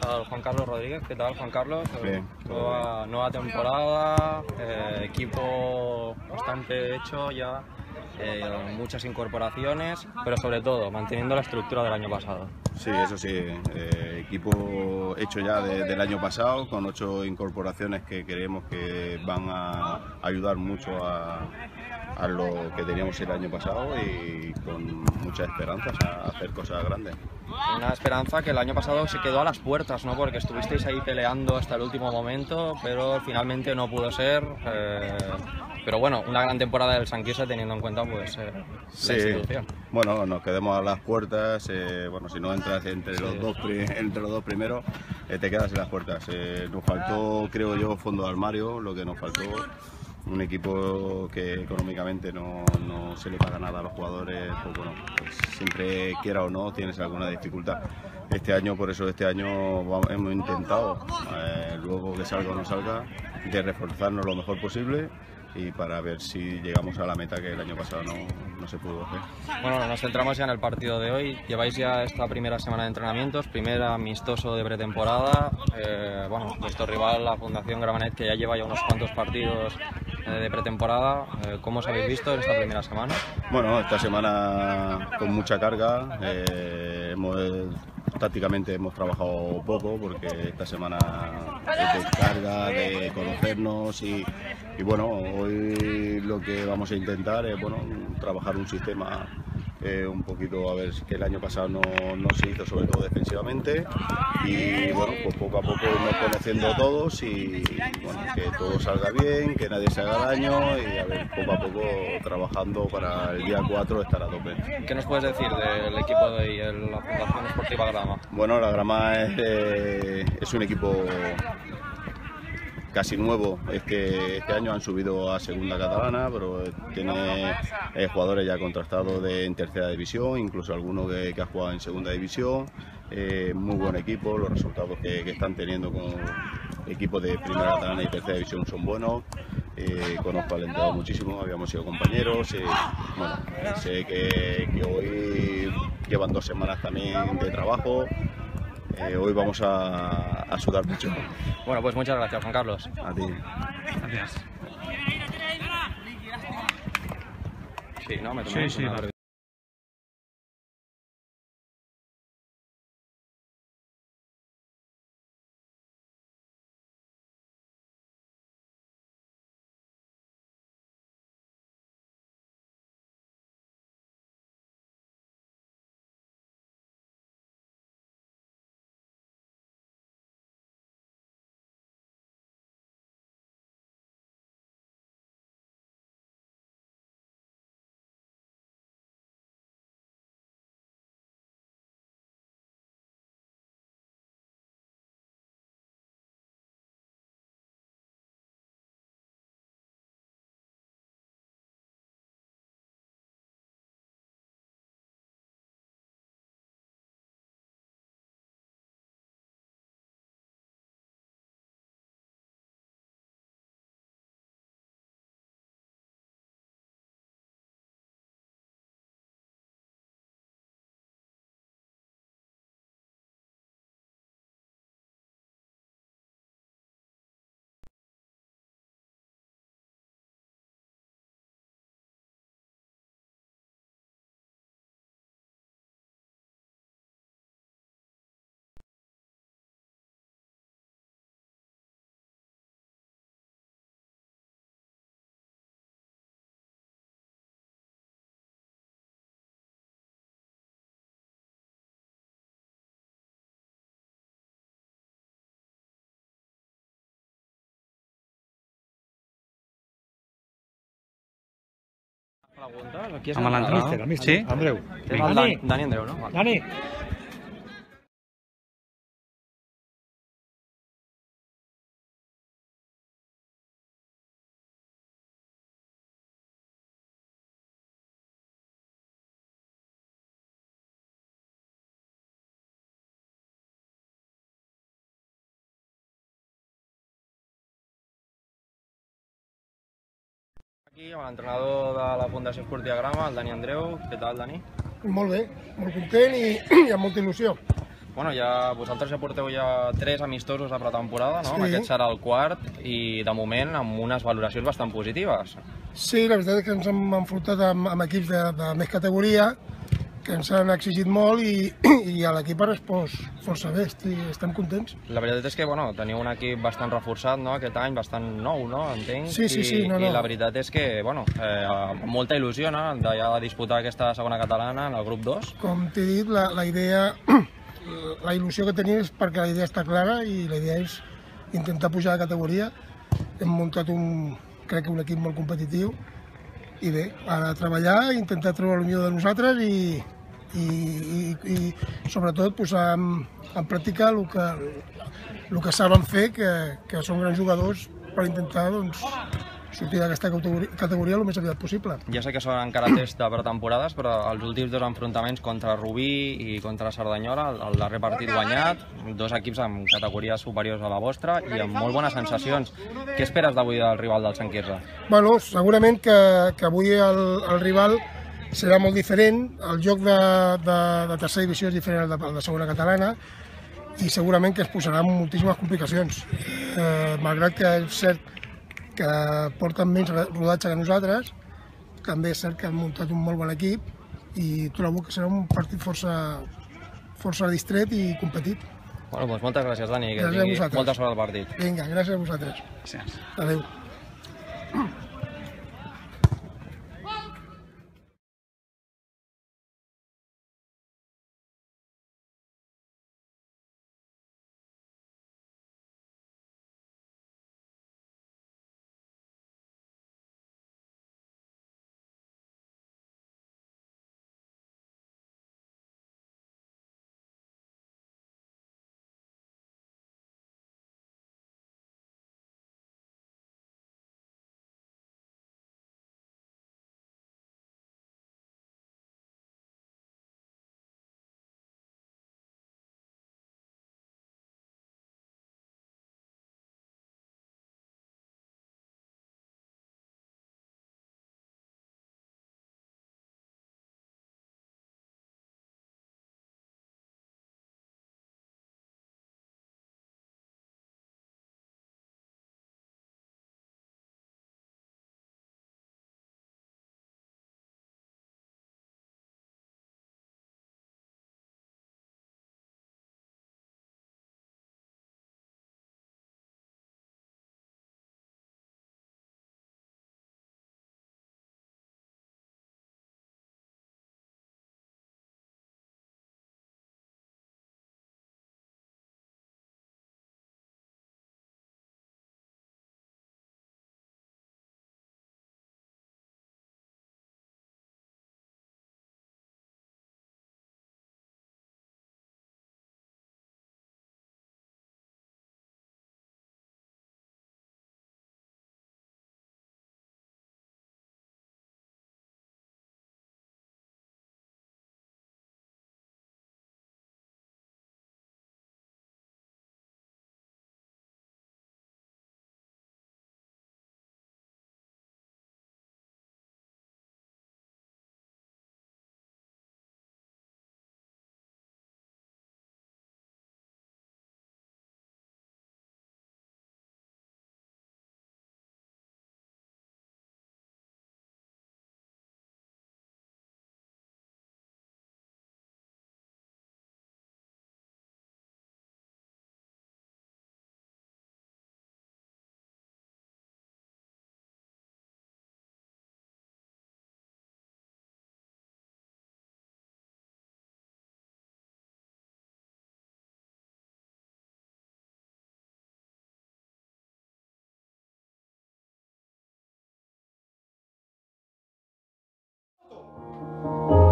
Al Juan Carlos Rodríguez. ¿Qué tal, Juan Carlos? Bien. Nueva temporada, equipo bastante hecho ya, muchas incorporaciones, pero sobre todo manteniendo la estructura del año pasado. Sí, eso sí, equipo hecho ya del año pasado, con 8 incorporaciones que creemos que van a ayudar mucho a lo que teníamos el año pasado y con muchas esperanzas a hacer cosas grandes. Una esperanza que el año pasado se quedó a las puertas, ¿no? Porque estuvisteis ahí peleando hasta el último momento, pero finalmente no pudo ser. Pero bueno, una gran temporada del Sanquisa teniendo en cuenta pues la institución. Bueno, nos quedamos a las puertas. Bueno, si no entras entre los dos primeros, te quedas en las puertas. Nos faltó, creo yo, fondo de armario, lo que nos faltó. Un equipo que económicamente no se le paga nada a los jugadores, pues bueno, pues siempre quiera o no tienes alguna dificultad. Este año, por eso este año hemos intentado, luego que salga o no salga, de reforzarnos lo mejor posible y para ver si llegamos a la meta que el año pasado no se pudo hacer. Bueno, nos centramos ya en el partido de hoy. Lleváis ya esta primera semana de entrenamientos, primer amistoso de pretemporada. Bueno, vuestro rival, la Fundación Gramenet, que ya lleva ya unos cuantos partidos de pretemporada. ¿Cómo os habéis visto en esta primera semana? Bueno, esta semana con mucha carga. Tácticamente hemos trabajado poco porque esta semana es de carga, de conocernos y bueno, hoy lo que vamos a intentar es trabajar un sistema un poquito, a ver, que el año pasado no se hizo, sobre todo defensivamente, y bueno, pues poco a poco irnos conociendo todos y bueno, que todo salga bien, que nadie se haga daño y a ver, poco a poco trabajando para el día 4 estar a tope. ¿Qué nos puedes decir del equipo de hoy, la Fundación Esportiva Grama? Bueno, la Grama es un equipo casi nuevo. Este año han subido a segunda catalana, pero tiene jugadores ya contrastados en tercera división, incluso alguno que ha jugado en segunda división. Muy buen equipo, los resultados que están teniendo con equipos de primera catalana y tercera división son buenos. Conozco al entrenador muchísimo, habíamos sido compañeros. Bueno, sé que hoy llevan 2 semanas también de trabajo. Hoy vamos a sudar mucho. Bueno, pues muchas gracias, Juan Carlos. A ti. Gracias. Sí, ¿no? Me tomé una pregunta. Aquí és el Sí? Andreu. Dani Andreu, no? Dani. Aquí amb l'entrenador de la Fundació Esportiva Grama, el Dani Andreu. Què tal, Dani? Molt bé, molt content i amb molta il·lusió. Bueno, vosaltres ja porteu 3 amistosos a pretemporada, no? Sí. Aquest serà el quart i, de moment, amb unes valoracions bastant positives. Sí, la veritat és que ens hem enfrontat amb equips de més categoria, que ens han exigit molt i l'equip ha respost força bé, estem contents. La veritat és que teniu un equip bastant reforçat, no? Aquest any, bastant nou, no? Entenc. Sí. No. I la veritat és que, amb molta il·lusió, no? De disputar aquesta segona catalana en el grup 2. Com t'he dit, la idea, la il·lusió que tenim és perquè la idea està clara i la idea és intentar pujar de categoria. Hem muntat crec que un equip molt competitiu i bé, ara treballar, intentar treure el millor de nosaltres i sobretot posar en pràctica el que saben fer, que són grans jugadors, per intentar sortir d'aquesta categoria el més aviat possible. Ja sé que són encara tests de pretemporades, però els últims 2 enfrontaments contra Rubí i contra Cerdanyola, el darrer partit guanyat, 2 equips amb categories superiors a la vostra i amb molt bones sensacions. Què esperes d'avui del rival del Sant Quirze? Bueno, segurament que avui el rival serà molt diferent, el joc de tercera divisió és diferent al de segona catalana i segurament que es posarà en moltíssimes complicacions. Malgrat que és cert que porten menys rodatge que nosaltres, també és cert que han muntat un molt bon equip i trobo que serà un partit força distret i competit. Bueno, doncs moltes gràcies, Dani, que Gràcies a tingui vosaltres. molta sort al partit. Vinga, gràcies a vosaltres. Gràcies. Adéu.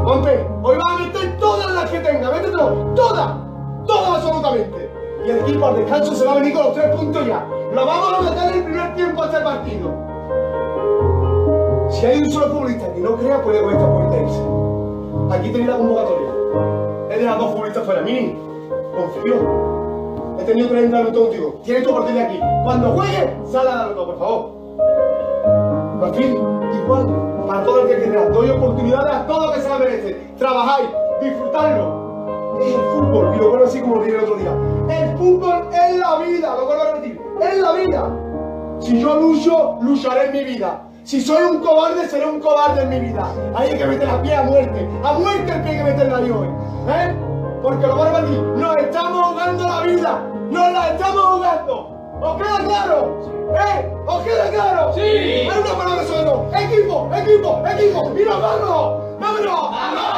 Monte, hoy vas a meter todas las que tenga, métetelo, todas absolutamente. Y el equipo al descanso se va a venir con los 3 puntos ya. Lo vamos a meter en el primer tiempo a este partido. Si hay un solo futbolista que no crea, puede con esta puerta irse. Aquí tenéis la convocatoria. He dejado 2 futbolistas fuera, Mini, confío. He tenido 30 minutos contigo. Tienes tu partido de aquí. Cuando juegue, sal a darlo todo, por favor. Martín, y igual para todo el que quiera. Doy oportunidades a todos que se la merecen. Trabajáis, disfrutarlo. Es el fútbol, y lo vuelvo así como lo dije el otro día. El fútbol es la vida, lo vuelvo a repetir, es la vida. Si yo lucho, lucharé en mi vida. Si soy un cobarde, seré un cobarde en mi vida. Ahí hay que meter la pie a muerte el pie hay que meterla yo, ¿eh? Porque lo vuelvo a decir, nos estamos jugando la vida, nos la estamos jugando. ¿Os queda claro? ¿Os queda claro? Sí. Hay una palabra solo. Equipo, equipo, equipo. Y nos vamos. ¡Vámonos! ¡Vamos!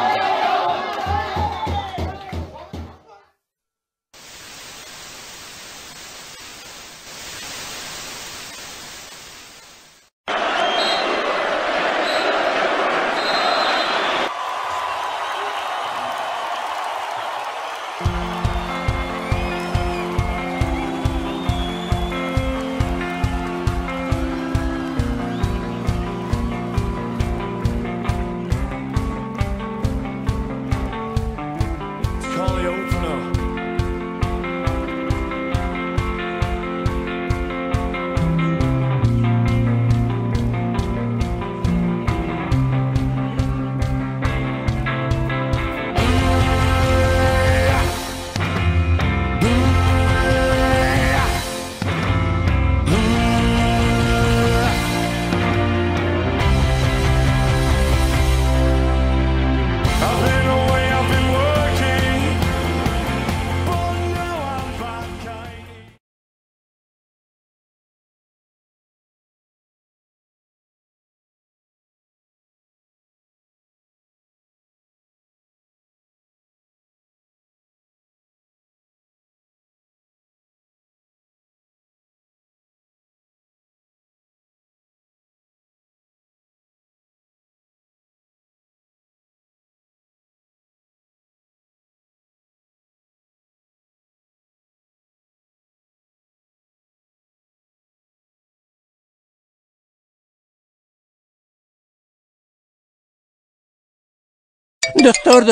Doctor,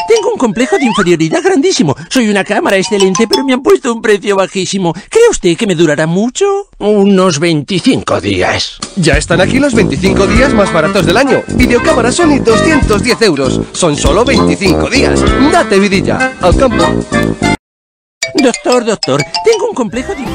tengo un complejo de inferioridad grandísimo. Soy una cámara excelente, pero me han puesto un precio bajísimo. ¿Cree usted que me durará mucho? Unos 25 días. Ya están aquí los 25 días más baratos del año. Videocámara Sony 210 euros. Son solo 25 días. Date vidilla. Al campo. Doctor, tengo un complejo de...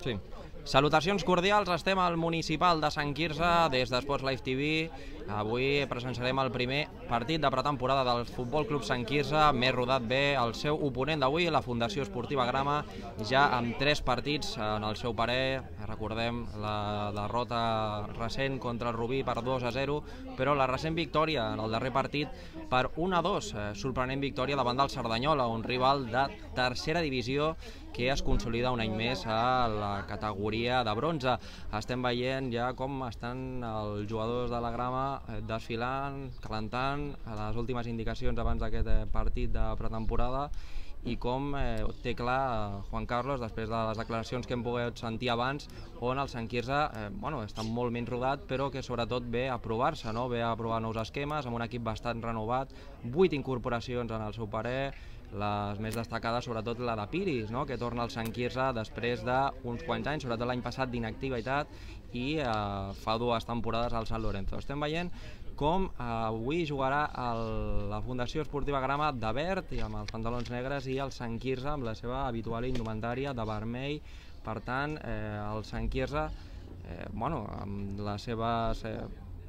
Sí. Salutacions cordials, estem al municipal de Sant Quirze des d'Esports Live TV. Avui presenciarem el primer partit de pretemporada del Futbol Club Sant Quirze. Més rodat bé el seu oponent d'avui, la Fundació Esportiva Grama, ja amb 3 partits en el seu parer. Recordem la derrota recent contra el Rubí per 2-0, però la recent victòria en el darrer partit per 1-2. Sorprenent victòria davant del Cerdanyola, un rival de tercera divisió que es consolida un any més a la categoria de bronze. Estem veient ja com estan els jugadors de la Grama desfilant, calentant, a les últimes indicacions abans d'aquest partit de pretemporada, i com té clar Juan Carlos, després de les declaracions que hem pogut sentir abans, on el Sant Quirze està molt menys rodat, però que sobretot ve a provar-se, ve a provar nous esquemes, amb un equip bastant renovat, 8 incorporacions en el seu parer, les més destacades, sobretot la de Piris, no? Que torna al Sant Quirze després d'uns quants anys, sobretot l'any passat d'inactivitat, i fa 2 temporades al Sant Lorenzo. Estem veient com avui jugarà la Fundació Esportiva Grama de verd i amb els pantalons negres, i el Sant Quirze amb la seva habitual indumentària de vermell. Per tant, el Sant Quirze, amb la seva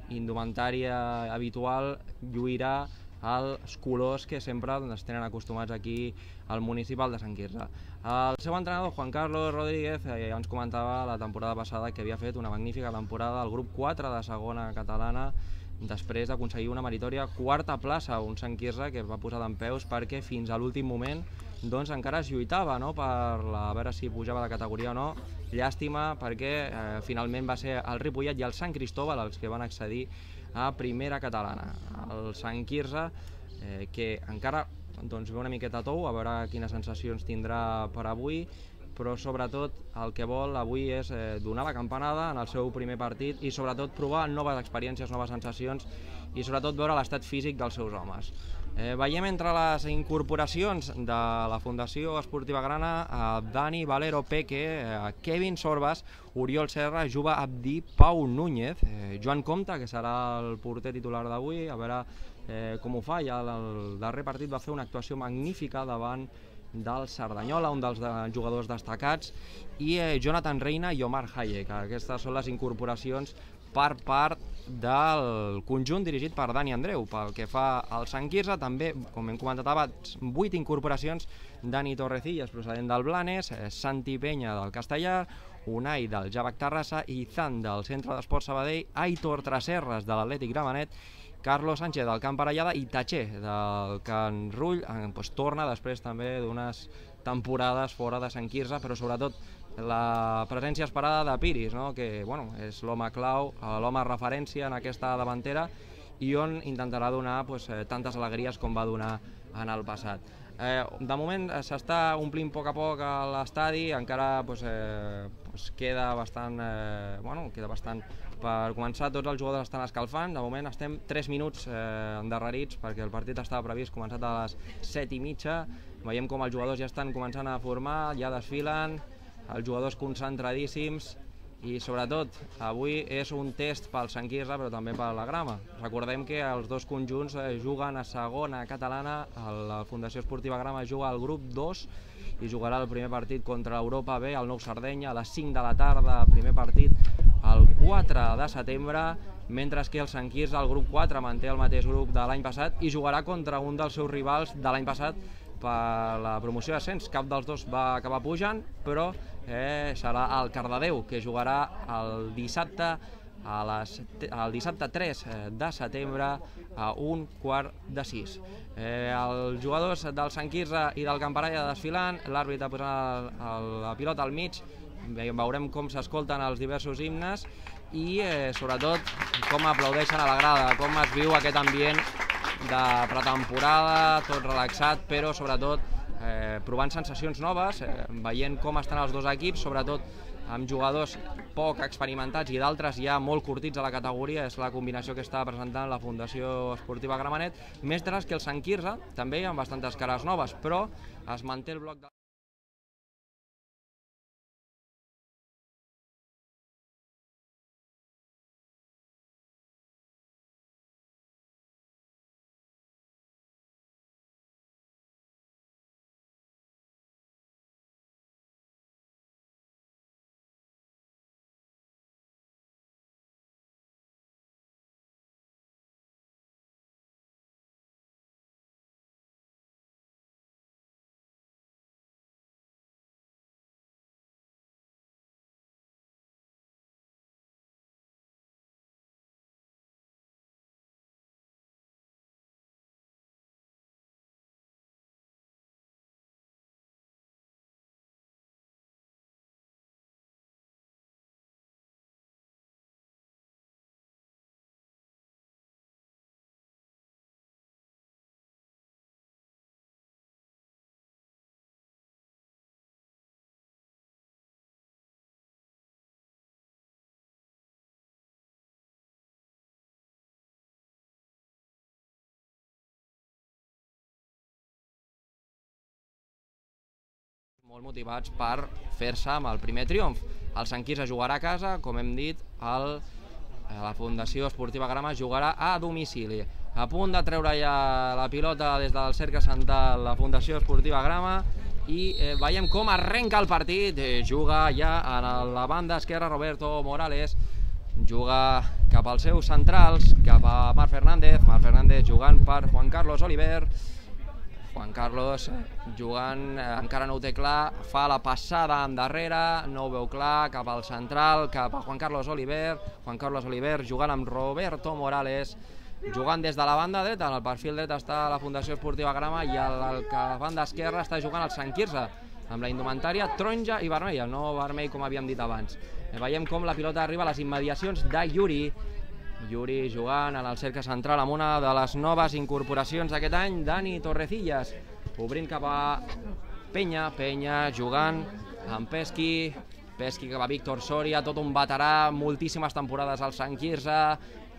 indumentària habitual, lluirà els colors que sempre ens tenen acostumats aquí al municipal de Sant Quirze. El seu entrenador, Juan Carlos Rodríguez, ja ens comentava la temporada passada que havia fet una magnífica temporada al grup 4 de segona catalana, després d'aconseguir una meritòria 4a plaça, un Sant Quirze que es va posar dempeus perquè fins a l'últim moment doncs encara es lluitava, no?, per a veure si pujava de categoria o no. Llàstima, perquè finalment va ser el Ripollet i el Sant Cristóbal els que van accedir a primera catalana. El Sant Quirze, que encara ve una miqueta tou, a veure quines sensacions tindrà per avui, però sobretot el que vol avui és donar la campanada en el seu primer partit i sobretot provar noves experiències, noves sensacions i sobretot veure l'estat físic dels seus homes. Veiem entre les incorporacions de la Fundació Esportiva Grana Dani, Valero, Peque, Kevin Sorbas, Oriol Serra, Juba Abdi, Pau Núñez, Joan Comte, que serà el porter titular d'avui, a veure com ho fa. Ja el darrer partit va fer una actuació magnífica davant del Cerdanyola, un dels jugadors destacats, i Jonathan Reina i Omar Hayek. Aquestes són les incorporacions per part del conjunt dirigit per Dani Andreu. Pel que fa al Sant Quirze, també, com hem comentat abans, 8 incorporacions: Dani Torrecillas, procedent del Blanes, Santi Peña del Castellar, Unai del Javac Terrassa, Izan del Centre d'Esport Sabadell, Aitor Tresserras de l'Atlètic Gramenet, Carlos Sánchez del Camp Parellada i Tatxer del Can Rull, torna després també d'unes temporades fora de Sant Quirze, però sobretot la presència esperada de Piris, que és l'home clau, l'home referència en aquesta davantera, i on intentarà donar tantes alegries com va donar en el passat. De moment s'està omplint a poc a l'estadi, encara queda bastant per començar. Tots els jugadors estan escalfant. De moment estem 3 minuts endarrerits perquè el partit estava previst començat a les 7:30. Veiem com els jugadors ja estan començant a formar, ja desfilen, els jugadors concentradíssims, i sobretot avui és un test pel Sant Quirze però també per la Grama. Recordem que els dos conjunts juguen a segona catalana. La Fundació Esportiva Grama juga al grup 2 i jugarà el primer partit contra l'Europa B, el Nou Sardenya, a les 5 de la tarda, primer partit el 4 de setembre, mentre que el Sant Quirze, el grup 4, manté el mateix grup de l'any passat i jugarà contra un dels seus rivals de l'any passat per la promoció d'ascens. Cap dels dos va acabar pujant, però serà el Cardedeu, que jugarà el dissabte 3 de setembre a 5:15. Els jugadors del Sant Quirze i del Camp Parella desfilant, l'àrbitre posant la pilota al mig, veurem com s'escolten els diversos himnes i sobretot com aplaudeixen a la grada, com es viu aquest ambient de pretemporada, tot relaxat, però sobretot provant sensacions noves, veient com estan els dos equips, sobretot amb jugadors poc experimentats i d'altres ja molt curtits a la categoria. És la combinació que està presentant la Fundació Esportiva Gramenet, mentre que el Sant Quirze també amb bastantes cares noves, però es manté el bloc de... Molt motivats per fer-se amb el primer triomf. El Sant Quirze jugarà a casa, com hem dit, la Fundació Esportiva Grama jugarà a domicili. A punt de treure ja la pilota des del cercle central la Fundació Esportiva Grama i veiem com arrenca el partit. Juga ja a la banda esquerra Roberto Morales, juga cap als seus centrals, cap a Marc Fernández, jugant per Juan Carlos Oliver. Juan Carlos jugant, encara no ho té clar, fa la passada endarrere, no ho veu clar, cap al central, cap a Juan Carlos Oliver jugant amb Roberto Morales, jugant des de la banda dreta. En el perfil dret està la Fundació Esportiva Grama i a la banda esquerra està jugant el Sant Quirze, amb la indumentària taronja i vermella, no vermell com havíem dit abans. Veiem com la pilota arriba a les immediacions de Yuri jugant en el cercle central amb una de les noves incorporacions d'aquest any, Dani Torrecillas, obrint cap a Peña jugant amb Pesqui cap a Víctor Soria, tot un veterà, moltíssimes temporades al Sant Quirze.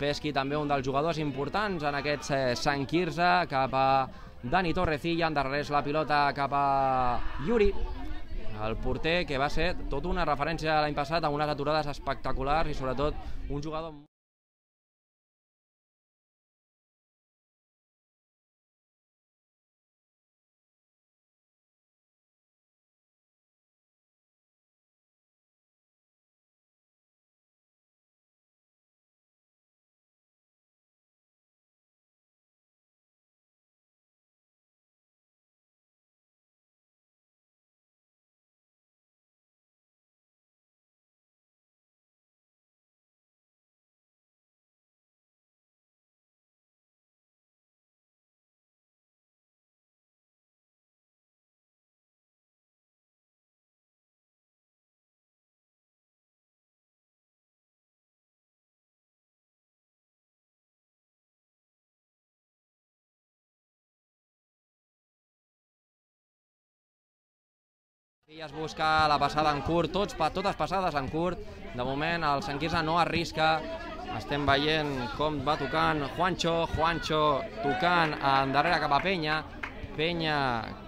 Pesqui també un dels jugadors importants en aquest Sant Quirze, cap a Dani Torrecilla, endarrereix la pilota cap a Yuri, el porter que va ser tota una referència l'any passat amb unes aturades espectaculars i sobretot un jugador... Es busca la passada en curt, totes passades en curt. De moment el Sant Quirze no arrisca. Estem veient com va tocant Juancho tocant endarrere cap a Peña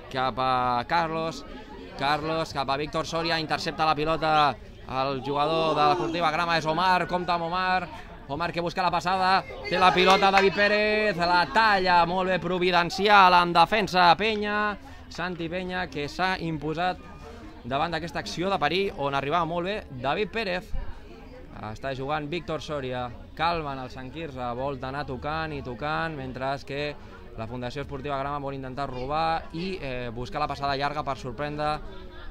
cap a Carlos cap a Víctor Soria, intercepta la pilota el jugador de l'Esportiva Grama, és Omar, compta amb Omar que busca la passada, té la pilota David Pérez, la talla molt bé providencial en defensa Santi Peña, que s'ha imposat davant d'aquesta acció de perill on arribava molt bé David Pérez. Està jugant Víctor Soria, calma en el Sant Quirze, vol anar tocant i tocant, mentre que la Fundació Esportiva Grama vol intentar robar i buscar la passada llarga per sorprendre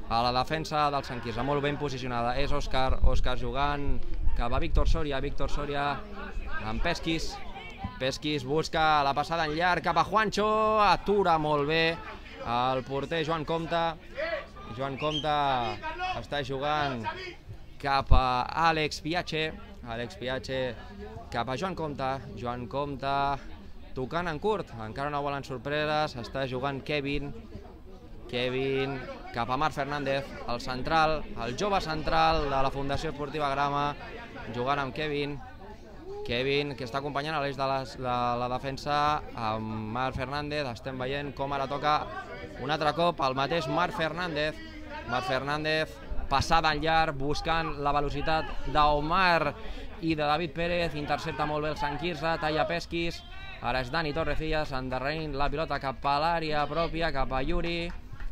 a la defensa del Sant Quirze, molt ben posicionada. És Òscar jugant cap a Víctor Soria amb Pesquis busca la passada en llarg cap a Juancho, atura molt bé el porter Joan Comte està jugant cap a Àlex Piache cap a Joan Comte tocant en curt, encara no volen sorpreses, està jugant Kevin cap a Marc Fernández, el central, el jove central de la Fundació Esportiva Grama, jugant amb Kevin, que està acompanyant a l'eix de la defensa amb Marc Fernández. Estem veient com ara toca un altre cop el mateix Marc Fernández, passada en llarg, buscant la velocitat d'Omar i de David Pérez, intercepta molt bé el Sant Quirze, talla Pesquis, ara és Dani Torrecillas endarrerint la pilota cap a l'àrea pròpia, cap a Yuri,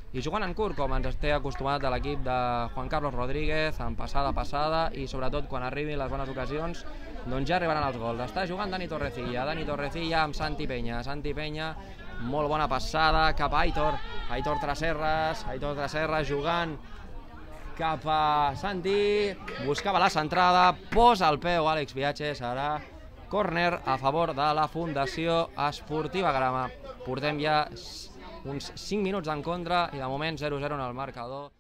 i jugant en curt, com ens té acostumat a l'equip de Juan Carlos Rodríguez, en passada, i sobretot quan arribin les bones ocasions, doncs ja arribaran els gols. Està jugant Dani Torrecilla amb Santi Peña, molt bona passada cap a Aitor Tresserras jugant cap a Santi, buscava la centrada, posa el peu Àlex Piache, serà córner a favor de la Fundació Esportiva Grama. Portem ja uns 5 minuts en contra i de moment 0-0 en el marcador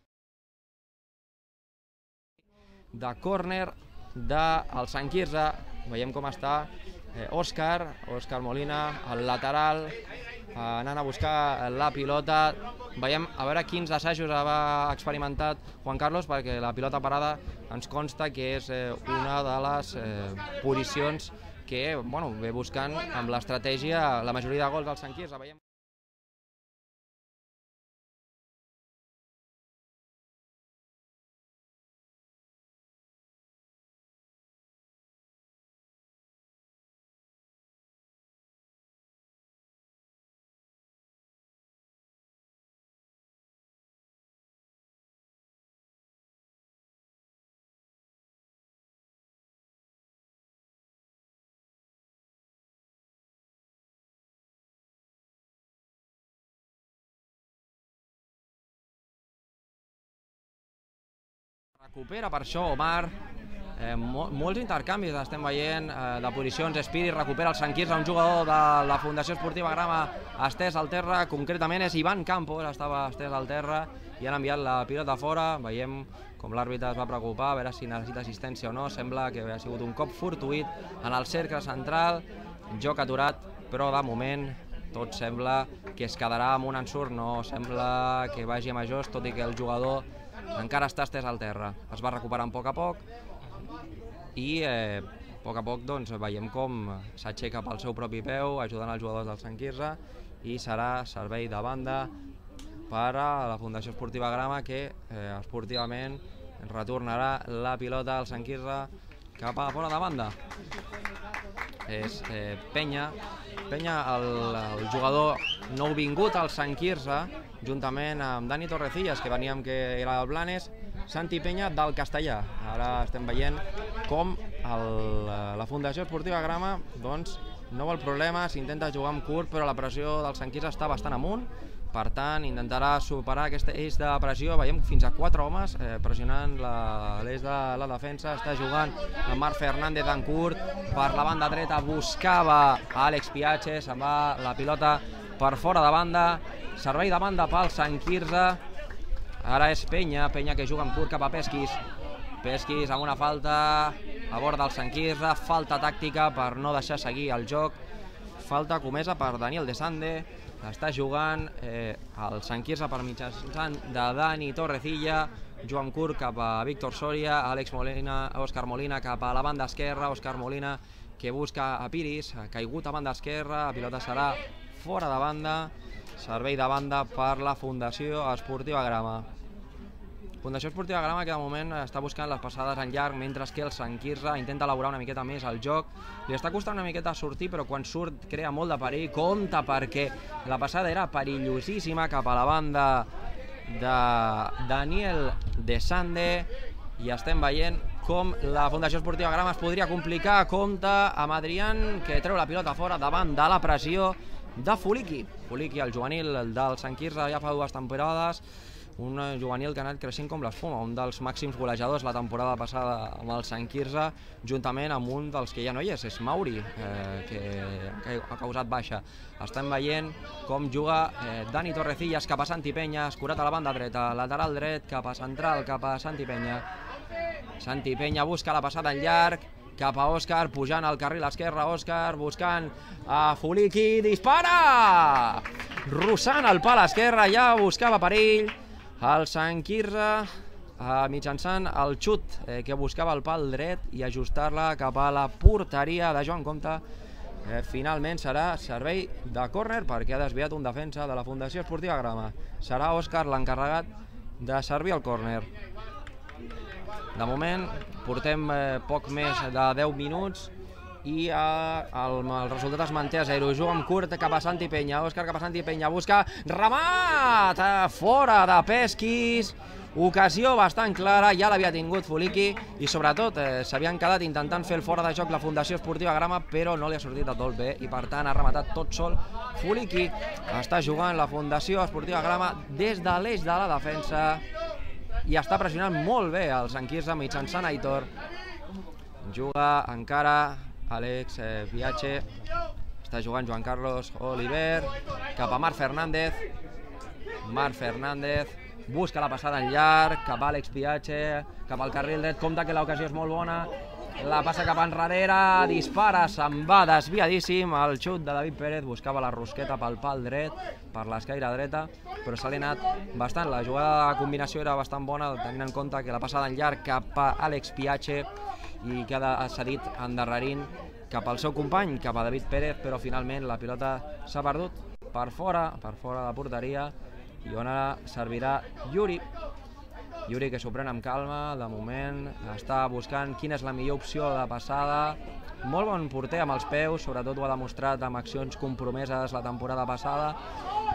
de córner del Sant Quirze. Veiem com està Òscar Molina, el lateral, anant a buscar la pilota. Veiem a veure quins assajos ha experimentat Juan Carlos, perquè la pilota parada ens consta que és una de les posicions que ve buscant amb l'estratègia la majoria de gols del Sant Quirze. Recupera per això Omar, molts intercanvis estem veient de posicions. Espiri recupera el Sant Quirze, un jugador de la Fundació Esportiva Grama estès al terra, concretament és Ivan Campos, estava estès al terra i han enviat la pilota fora. Veiem com l'àrbitre es va preocupar a veure si necessita assistència o no. Sembla que ha sigut un cop fortuït en el cercle central, joc aturat, però de moment tot sembla que es quedarà amb un ensurt, no sembla que vagi a majors, tot i que el jugador encara està estès al terra. Es va recuperant a poc i a poc doncs, veiem com s'aixeca pel seu propi peu, ajudant els jugadors del Sant Quirze, i serà servei de banda per a la Fundació Esportiva Grama, que esportivament retornarà la pilota al Sant Quirze cap a fora de banda. És Penya, el jugador nouvingut al Sant Quirze, juntament amb Dani Torrecillas, que veníem que era del Blanes, Santi Penya del Castellà. Ara estem veient com la Fundació Esportiva Grama doncs, no vol problemes, intenta jugar amb curt, però la pressió del Sant Quirze està bastant amunt. Per tant, intentarà superar aquest eix de pressió. Veiem fins a 4 homes pressionant l'eix de la defensa. Està jugant amb Marc Fernández en curt. Per la banda dreta buscava Àlex Piache. Se'n va la pilota per fora de banda. Servei de banda pel Sant Quirze. Ara és Penya que juga amb curt cap a Pesquis. Pesquis amb una falta a bord del Sant Quirze. Falta tàctica per no deixar seguir el joc. Falta comesa per Daniel De Sande. Està jugant el Sant Quirze per mitjançant de Dani Torrecilla. Juga amb curt cap a Víctor Soria, Òscar Molina cap a la banda esquerra. Òscar Molina que busca a Piris, ha caigut a banda esquerra. La pilota serà fora de banda. Servei de banda per la Fundació Esportiva Grama. Fundació Esportiva Grama que de moment està buscant les passades en llarg, mentre que el Sant Quirze intenta elaborar una miqueta més el joc. Li està costant una miqueta sortir, però quan surt crea molt de perill. Compte perquè la passada era perillosíssima cap a la banda de Daniel De Sande, i estem veient com la Fundació Esportiva Grama es podria complicar. Compte amb Adrián, que treu la pilota fora davant de la pressió de Fuliki. Fuliki, el juvenil del Sant Quirze, ja fa 2 temporades. Un juvenil que ha anat creixent com l'espuma, un dels màxims golejadors la temporada passada amb el Sant Quirze, juntament amb un dels que ja no hi és Mauri, que ha causat baixa. Estem veient com juga Dani Torrecillas cap a Santi Penya, escurat a la banda dreta, lateral dret cap a central, cap a Santi Penya. Santi Penya busca la passada en llarg, cap a Òscar, pujant al carril esquerre. Òscar buscant a Fuliki, dispara! Russant el pal esquerre, ja buscava perill. El Sant Quirze mitjançant el xut que buscava el pal dret i ajustar-la cap a la porteria de Joan Comte. Finalment serà servei de córner perquè ha desviat un defensa de la Fundació Esportiva Grama. Serà Òscar l'encarregat de servir el córner. De moment portem poc més de 10 minuts i el resultat es manté a 0. Juga amb curt cap a Santi Penya. Òscar cap a Santi Penya, busca remat fora de Pesquis. Ocasió bastant clara, ja l'havia tingut Fuliki i sobretot s'havien quedat intentant fer el fora de joc la Fundació Esportiva Grama, però no li ha sortit del tot bé i per tant ha rematat tot sol Fuliki. Està jugant la Fundació Esportiva Grama des de l'eix de la defensa i està pressionant molt bé el Sant Quirze mitjançant Aitor. Juga encara Àlex Piache, està jugant Joan Carlos Oliver cap a Marc Fernández. Marc Fernández busca la passada en llarg cap a Àlex Piache, cap al carril dret. Compte que l'ocasió és molt bona, la passa cap enrere, dispara, se'n va desviadíssim. El xut de David Pérez buscava la rosqueta pel pal dret, per l'escaire dreta, però se l'ha anat bastant. La jugada de combinació era bastant bona, tenint en compte que la passada en llarg cap a Àlex Piache i que ha cedit endarrerint cap al seu company, cap a David Pérez, però finalment la pilota s'ha perdut per fora de porteria i on ara servirà Yuri. Yuri que s'ho pren amb calma, de moment està buscant quina és la millor opció de passada. Molt bon porter amb els peus, sobretot ho ha demostrat amb accions compromeses la temporada passada,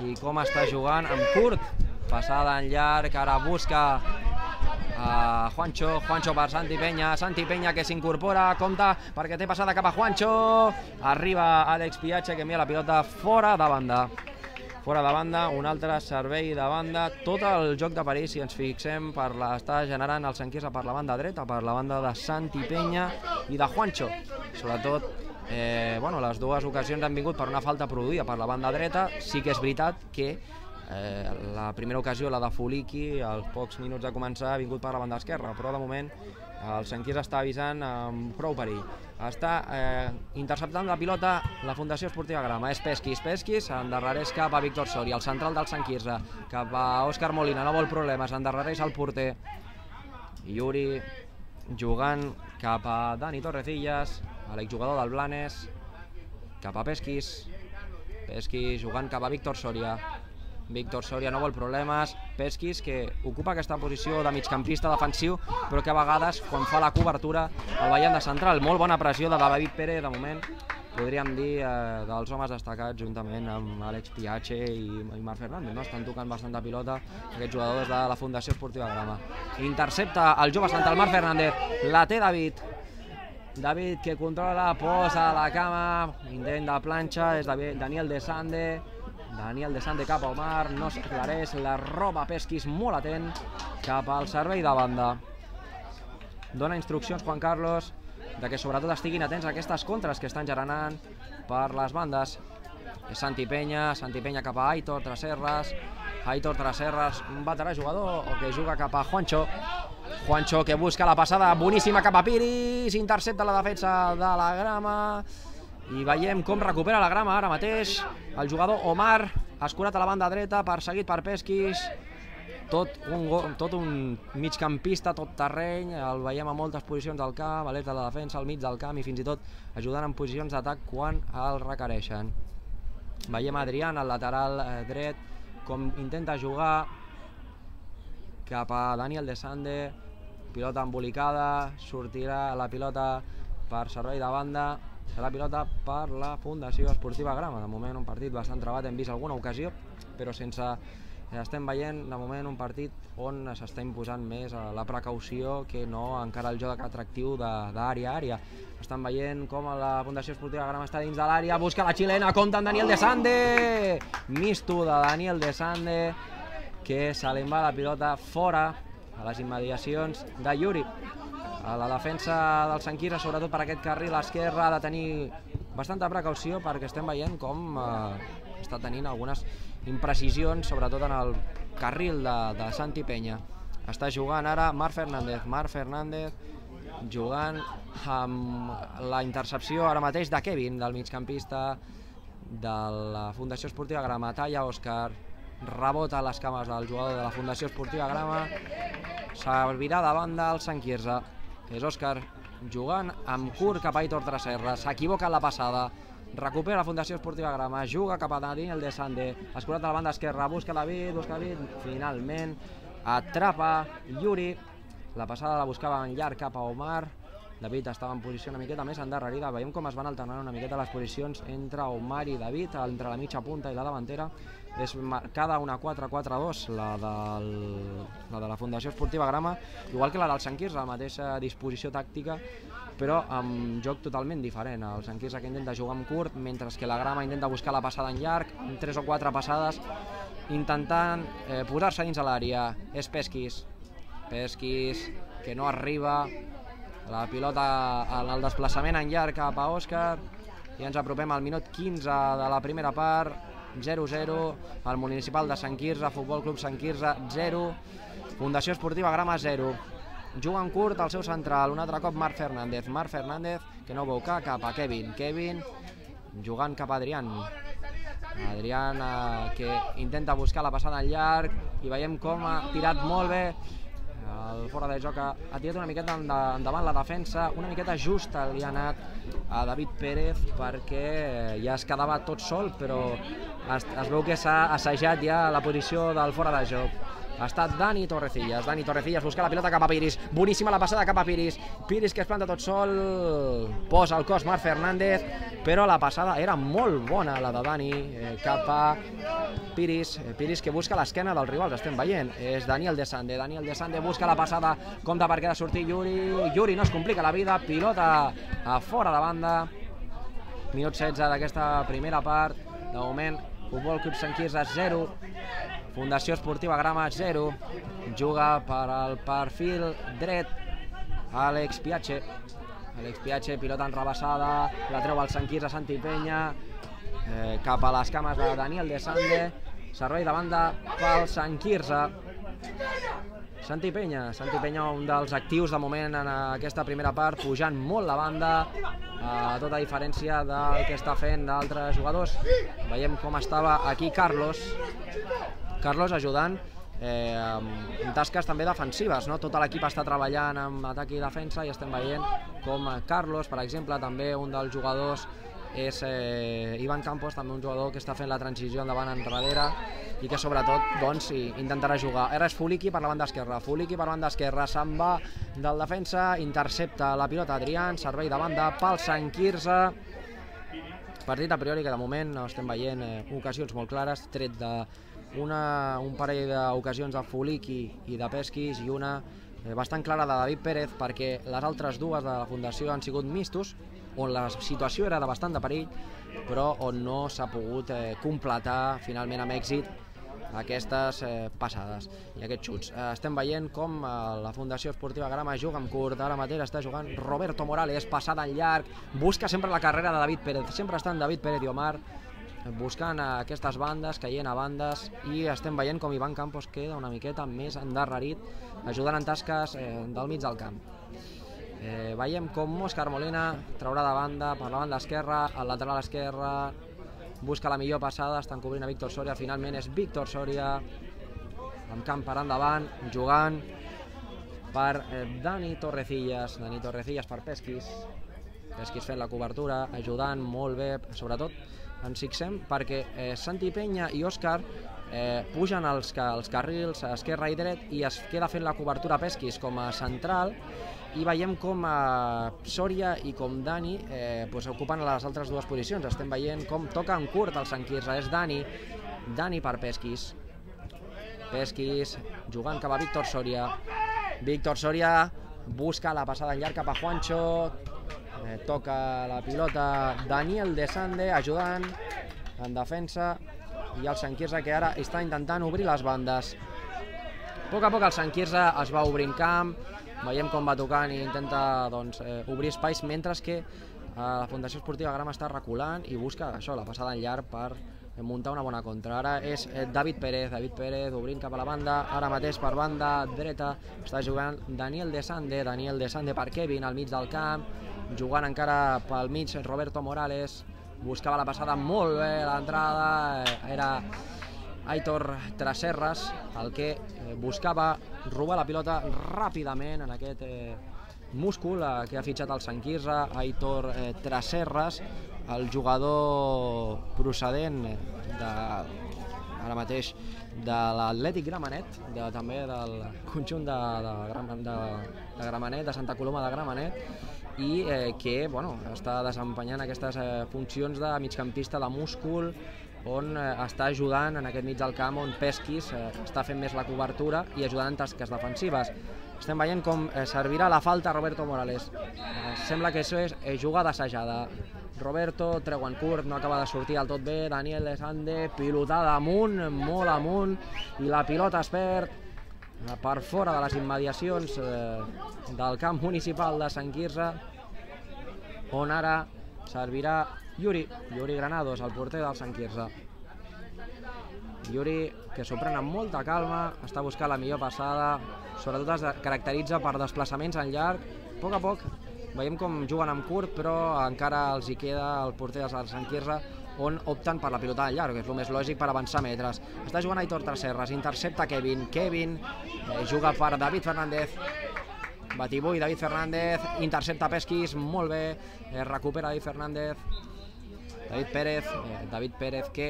i com està jugant amb curt, passada en llarg, ara busca Juancho per Santi Penya que s'incorpora, compte perquè té passada cap a Juancho, arriba Àlex Piache que envia la pilota fora de banda. fora de banda, un altre servei de banda, tot el joc de perill, si ens fixem, està generant el Sant Quirze per la banda dreta, per la banda de Santi Peña i de Juancho. Sobretot, les dues ocasions han vingut per una falta produïda per la banda dreta. Sí que és veritat que la primera ocasió, la de Fuliki, als pocs minuts de començar, ha vingut per la banda esquerra, però de moment el Sant Quirze està avisant amb prou perill. Està interceptant la pilota la Fundació Esportiva Grama, és Pesquis, endarrereix cap a Víctor Soria, el central del Sant Quirze, cap a Òscar Molina, no vol problemes, endarrereix el porter. Yuri jugant cap a Dani Torrecillas, l'exjugador del Blanes, cap a Pesquis jugant cap a Víctor Soria. Víctor Soria no vol problemes, Pesquis que ocupa aquesta posició de migcampista defensiu, però que a vegades quan fa la cobertura el veiem de central. Molt bona pressió de David Pérez, de moment podríem dir dels homes destacats juntament amb Àlex Piache i Marc Fernández, estan tocant bastant de pilota aquests jugadors de la Fundació Esportiva Grama. Intercepta el jove central Marc Fernández, la té David que controla, posa a la cama, intent de planxa, és Daniel De Sande cap a Omar, no s'aclareix, la roba Pesquis molt atent cap al servei de banda. Dona instruccions Juan Carlos de que sobretot estiguin atents a aquestes contres que estan generant per les bandes. És Santi Peña cap a Aitor Tresserras, un veterà jugador que juga cap a Juancho que busca la passada boníssima cap a Piris, intercepta la defensa de la Grama. I veiem com recupera la Grama ara mateix el jugador Omar, escurat a la banda dreta, perseguit per Pesquis, tot un migcampista, tot terreny, el veiem a moltes posicions del camp, a l'est de la defensa, al mig del camp i fins i tot ajudant en posicions d'atac quan el requereixen. Veiem Adrián, el lateral dret, com intenta jugar cap a Daniel De Sande, pilota embolicada, sortirà la pilota per servei de banda, serà pilota per la Fundació Esportiva Grama. De moment un partit bastant trebat, hem vist alguna ocasió, però estem veient de moment un partit on s'està imposant més la precaució que no encara el joc atractiu d'àrea a àrea. Estan veient com la Fundació Esportiva Grama està dins de l'àrea, busca la xilena, compta amb Daniel De Sande, misto de Daniel De Sande, que se li va la pilota fora a les immediacions de Yuri. A la defensa del Sant Quirze, sobretot per aquest carril esquerre, ha de tenir bastanta precaució perquè estem veient com està tenint algunes imprecisions, sobretot en el carril de Santi Peña. Està jugant ara Marc Fernández jugant amb la intercepció ara mateix de Kevin, del migcampista de la Fundació Esportiva Grama. Talla Òscar, rebota a les cames del jugador de la Fundació Esportiva Grama, servirà de banda al Sant Quirze. És Òscar jugant amb curt cap a Aitor Tresserras, s'equivoca en la passada, recupera la Fundació Esportiva Grama, juga cap a Daniel De Sande, escurat a la banda esquerra, busca David, finalment atrapa Yuri, la passada la buscava en llarg cap a Omar, David estava en posició una miqueta més endarrerida, veiem com es van alternant una miqueta les posicions entre Omar i David, entre la mitja punta i la davantera. És marcada una 4-4-2, la de la Fundació Esportiva Grama, igual que la del Sant Quirze, la mateixa disposició tàctica, però amb joc totalment diferent. El Sant Quirze que intenta jugar amb curt, mentre que la Grama intenta buscar la passada en llarg, 3 o 4 passades, intentant posar-se dins a l'àrea. És Pesquis que no arriba, la pilota en el desplaçament en llarg cap a Òscar, i ens apropem al minut 15 de la primera part. 0-0, el Municipal de Sant Quirze, Futbol Club Sant Quirze 0, Fundació Esportiva Grama 0. Juga en curt el seu central, un altre cop Marc Fernández que no veu cap a Kevin jugant cap a Adrián que intenta buscar la passada en llarg i veiem com ha tirat molt bé. El fora de joc ha tirat una miqueta endavant la defensa, una miqueta justa li ha anat a David Pérez perquè ja es quedava tot sol, però es veu que s'ha assajat ja la posició del fora de joc. Ha estat Dani Torrecillas busca la pilota cap a Piris, boníssima la passada cap a Piris que es planta tot sol, posa el cos Marc Fernández, però la passada era molt bona, la de Dani cap a Piris que busca l'esquena dels rivals, estem veient, és Daniel De Sande busca la passada, compta perquè ha de sortir Yuri no es complica la vida, pilota a fora de banda. Minut 16 d'aquesta primera part, de moment Futbol Club Sant Quirze 0, Fundació Esportiva Grama 0, juga per al perfil dret Àlex Piache. Àlex Piache, pilota enrabassada, la treu al Sant Quirze, Santi Penya, cap a les cames de Daniel De Sande, servei de banda pel Sant Quirze. Santi Penya, un dels actius de moment en aquesta primera part, pujant molt la banda, a tota diferència del que està fent d'altres jugadors. Veiem com estava aquí Carlos ajudant en tasques també defensives, no? Tot l'equip està treballant amb atac i defensa i estem veient com Carlos, per exemple, també un dels jugadors és Ivan Campos, també un jugador que està fent la transició endavant enrere i que sobretot doncs, intentarà jugar. Ara és Fuliki per la banda esquerra, se'n va del defensa, intercepta la pilota Adrián, servei de banda pel Sant Quirze. Partit a priori que de moment no estem veient ocasions molt clares, tret d'un parell d'ocasions de Fuliki i de Pesquis i una bastant clara de David Pérez, perquè les altres dues de la Fundació han sigut mistos, on la situació era de bastant de perill, però on no s'ha pogut completar finalment amb èxit aquestes passades i aquests xuts. Estem veient com la Fundació Esportiva Grama juga amb curt, ara mateix està jugant Roberto Morales, passada en llarg, busca sempre la carrera de David Pérez, sempre estan David Pérez i Omar buscant aquestes bandes, caient a bandes, i estem veient com Ivan Campos queda una miqueta més endarrerit, ajudant en tasques del mig del camp. Veiem com Òscar Molina traurà de banda per la banda esquerra, al lateral esquerre, busca la millor passada, estan cobrint a Víctor Soria, finalment és Víctor Soria, amb camp per endavant, jugant per Dani Torrecillas per Pesquis fent la cobertura, ajudant molt bé, sobretot ens fixem perquè Santi Penya i Òscar pugen els carrils esquerra i dret i es queda fent la cobertura Pesquis com a central, i veiem com Soria i com Dani ocupen les altres dues posicions. Estem veient com toca en curt el Sant Quirze, és Dani per Pesquis jugant cap a Víctor Soria busca la passada en llarg cap a Juancho, toca la pilota Daniel De Sande ajudant en defensa, i el Sant Quirze que ara està intentant obrir les bandes. A poc el Sant Quirze es va obrint camp, veiem com va tocant i intenta obrir espais, mentre que la Fundació Esportiva Grama està reculant i busca això, la passada en llarg per muntar una bona contra. Ara és David Pérez obrint cap a la banda, ara mateix per banda dreta està jugant Daniel De Sande per Kevin al mig del camp, jugant encara pel mig Roberto Morales, buscava la passada molt bé, l'entrada era Aitor Traserras el que buscava robar la pilota ràpidament en aquest múscul que ha fitxat el Sant Quirze, Aitor Traserras, el jugador procedent ara mateix de l'Atlètic Gramenet, també del conjunt de Gramenet, de Santa Coloma de Gramenet, i que està desempenyant aquestes funcions de migcampista de múscul, on està ajudant en aquest mig del camp, on Pesquis està fent més la cobertura i ajudant en tasques defensives. Estem veient com servirà la falta a Roberto Morales. Sembla que això és jugada assajada. Roberto treu en curt, no acaba de sortir del tot bé, Daniel De Sande, pilotada amunt, molt amunt, i la pilota es perd per fora de les immediacions del camp municipal de Sant Quirze, on ara servirà Yuri Granados, el porter del Sant Quirze. Yuri, que s'ho pren amb molta calma, està buscant la millor passada, sobretot es caracteritza per desplaçaments en llarg. A poc veiem com juguen amb curt, però encara els hi queda el porter del Sant Quirze, on opten per la pilota en llarg, que és el més lògic per avançar metres. Està jugant Aitor Traserras, intercepta Kevin, juga per David Fernández, batibull David Fernández, intercepta Pesquis, molt bé, recupera David Fernández, David Pérez que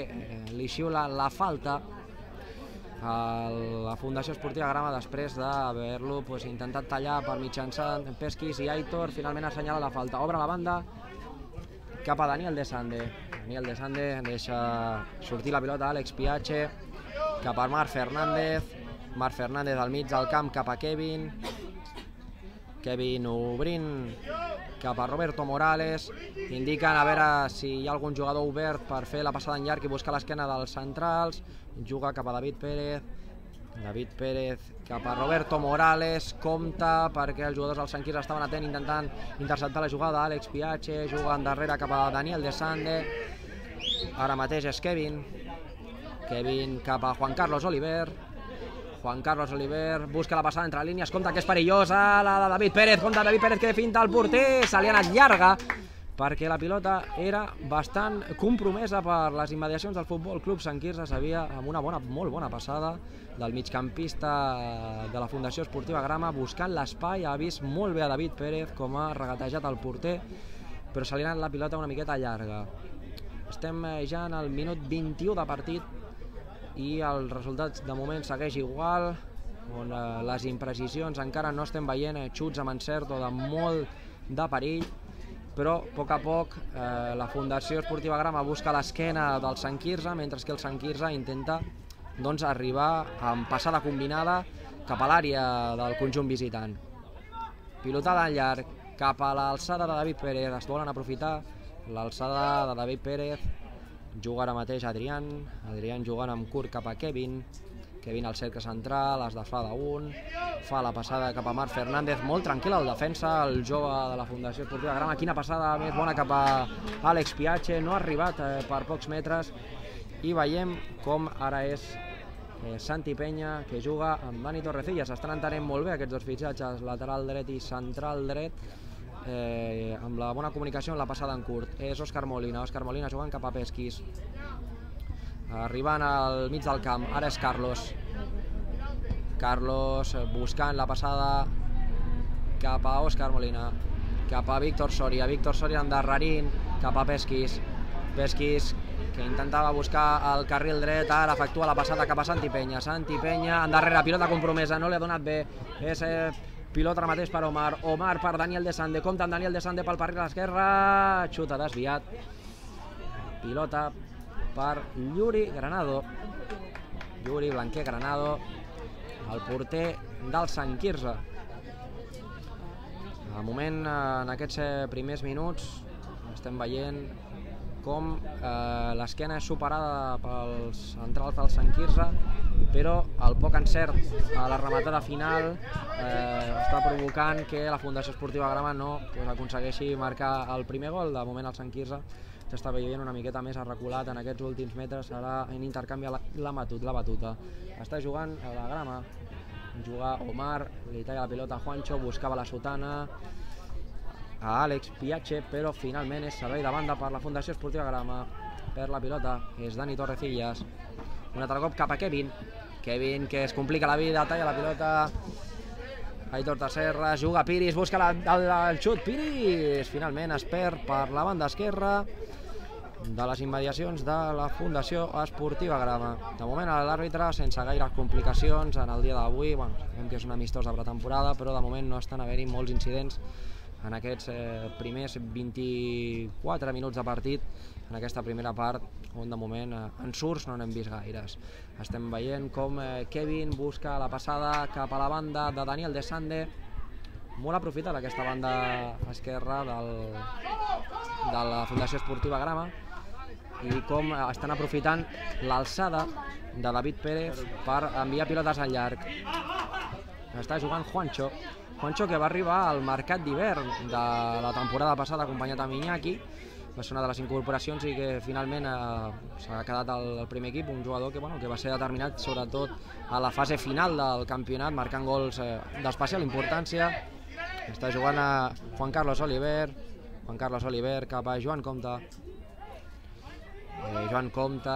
li xiula la falta a la Fundació Esportiva Grama després d'haver-lo intentat tallar per mitjançant Pesquis, i Aitor finalment assenyala la falta. Obre la banda cap a Daniel De Sande. Daniel De Sande deixa sortir la pilota a Àlex Piache, cap a Marc Fernández al mig del camp cap a Kevin Kevin obrint cap a Roberto Morales, indiquen a veure si hi ha algun jugador obert per fer la passada en llarg i buscar l'esquena dels centrals, juga cap a David Pérez cap a Roberto Morales, compta perquè els jugadors del Sant Quirze estaven atent intentant interceptar la jugada, Àlex Piache juga endarrere cap a Daniel De Sande, ara mateix és Kevin cap a Juan Carlos Oliver busca la passada entre línies, compta que és perillosa la de David Pérez, compta David Pérez que finta el porter, se li ha anat llarga perquè la pilota era bastant compromesa per les immediacions del Futbol Club Sant Quirze. S'havia, amb una molt bona passada del migcampista de la Fundació Esportiva Grama, buscant l'espai, ha vist molt bé a David Pérez com ha regatejat el porter, però se li ha anat la pilota una miqueta llarga. Estem ja en el minut 21 de partit i el resultat de moment segueix igual, on les imprecisions encara no estem veient xuts amb encert o de molt de perill, però a poc la Fundació Esportiva Grama busca l'esquena del Sant Quirze, mentre que el Sant Quirze intenta arribar amb passada combinada cap a l'àrea del conjunt visitant. Pilotada en llarg cap a l'alçada de David Pérez, es volen aprofitar l'alçada de David Pérez, juga ara mateix Adrián jugant amb curt cap a Kevin al cercle central, es desfà d'un, fa la passada cap a Marc Fernández, molt tranquil el defensa, el jove de la Fundació Esportiva Grama, quina passada més bona cap a Àlex Piache, no ha arribat per pocs metres, i veiem com ara és Santi Peña que juga amb Dani Torrecillas, estan entenent molt bé aquests dos fitxatges, lateral dret i central dret, amb la bona comunicació en la passada en curt. És Òscar Molina jugant cap a Pesquis, arribant al mig del camp, ara és Carlos buscant la passada cap a Òscar Molina, cap a Víctor Soria endarrerint cap a Pesquis que intentava buscar el carril dret, ara efectua la passada cap a Santi Peña endarrere, pilota compromesa, no li ha donat bé, és pilota ara mateix per Omar per Daniel De Sande, compta amb Daniel De Sande pel carril esquerre, xuta desviat, pilota per Yuri Blanquer Granado, el porter del Sant Quirze. De moment, en aquests primers minuts, estem veient com l'esquena és superada pels centrals del Sant Quirze, però el poc encert a la rematada final està provocant que la Fundació Esportiva Grama no aconsegueixi marcar el primer gol. De moment el Sant Quirze s'està veient una miqueta més arreculat en aquests últims metres, ara en intercanvi la batuta. Està jugant a la Grama, juga Omar, li talla la pilota a Juancho, buscava la sotana a Àlex Piache, però finalment és servei de banda per la Fundació Esportiva Grama. Per la pilota és Dani Torrecillas, un altre cop cap a Kevin que es complica la vida, talla la pilota Aitor Tasserra, juga Piris, busca el xut, Piris finalment es perd per la banda esquerra de les immediacions de la Fundació Esportiva Grama. De moment l'àrbitre sense gaires complicacions en el dia d'avui, sabem que és un amistós de pretemporada, però de moment no estan havent-hi molts incidents en aquests primers 24 minuts de partit, en aquesta primera part, on de moment ensurts no n'hem vist gaires. Estem veient com Kevin busca la passada cap a la banda de Daniel De Sande, molt aprofitada aquesta banda esquerra de la Fundació Esportiva Grama, i com estan aprofitant l'alçada de David Pérez per enviar pilotes al llarg. Està jugant Juancho que va arribar al mercat d'hivern de la temporada passada acompanyat amb Iñaki, va ser una de les incorporacions i que finalment s'ha quedat al primer equip, un jugador que va ser determinat sobretot a la fase final del campionat, marcant gols d'especial importància. Està jugant a Juan Carlos Oliver cap a Joan Comte. Joan Comte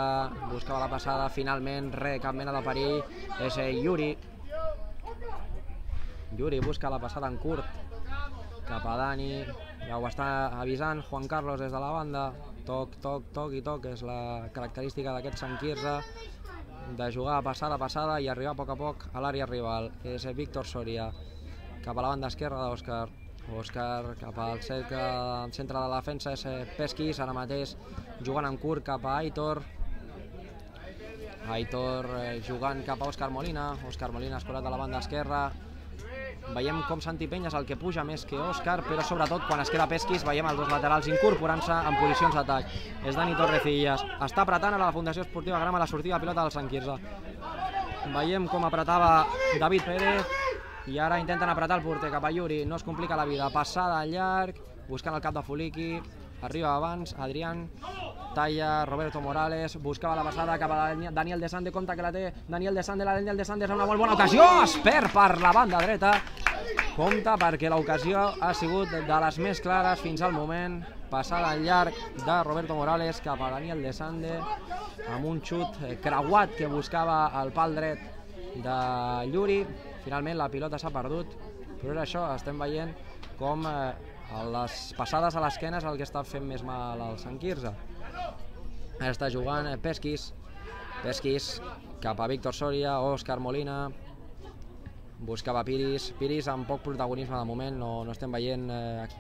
buscava la passada, finalment cap mena de perill, és Yuri busca la passada en curt cap a Dani, ja ho està avisant Juan Carlos des de la banda, toc, és la característica d'aquest Sant Quirze, de jugar passada i arribar a poc a l'àrea rival. És Víctor Soria cap a la banda esquerra d'Òscar, cap al centre de la defensa és Pesquis, ara mateix jugant en curt cap a Aitor jugant cap a Òscar Molina escolat a la banda esquerra, veiem com Santi Peña és el que puja més que Òscar, però sobretot quan es queda Pesquis veiem els dos laterals incorporant-se en posicions d'atac. És Dani Torrecillas, està apretant a la Fundació Esportiva Grama la sortida de pilota del Sant Quirze. Veiem com apretava David Pérez i ara intenten apretar el porter cap a Yuri, no es complica la vida, passada al llarg, buscant el cap de Fuliki, arriba abans Adrián, talla Roberto Morales, buscava la passada cap a Daniel De Sande, compte que la té Daniel De Sande, és una molt bona ocasió, es perd per la banda dreta, compte perquè l'ocasió ha sigut de les més clares fins al moment, passada al llarg de Roberto Morales cap a Daniel De Sande, amb un xut creuat que buscava el pal dret de Yuri. Finalment la pilota s'ha perdut, però és això, estem veient com les passades a l'esquena és el que està fent més mal al Sant Quirze. Ara està jugant Pesquis cap a Víctor Soria, Òscar Molina, buscava Piris amb poc protagonisme de moment, no estem veient,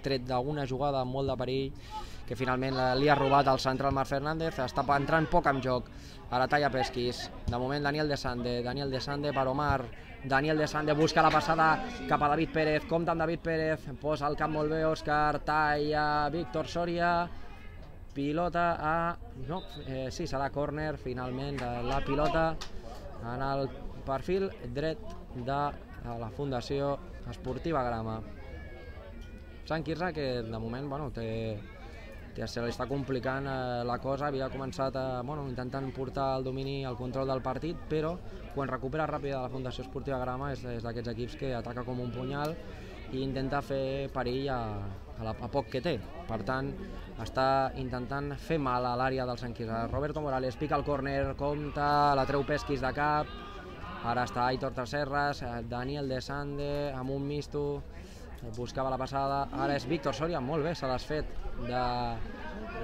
tret d'alguna jugada amb molt de perill que finalment li ha robat el central Marc Fernández, està entrant poc en joc, ara talla Pesquis, de moment Daniel De Sande per Omar, Daniel De Sande busca la passada cap a David Pérez, compta amb David Pérez, posa el cap molt bé Òscar, talla Víctor Soria, pilota a... no, sí, serà córner finalment de la pilota en el perfil dret de la Fundació Esportiva Grama. Sant Quirze que de moment se li està complicant la cosa, havia començat intentant portar el domini, el control del partit, però quan recupera ràpid la Fundació Esportiva Grama és d'aquests equips que ataca com un punyal i intenta fer perill a poc que té. Per tant, està intentant fer mal a l'àrea del Sant Quirze. Roberto Morales pica el córner, compta, la treu Pesquis de cap, ara està Aitor Tresserras, Daniel De Sande amb un misto, buscava la passada, ara és Víctor Soria, molt bé, se l'ha fet de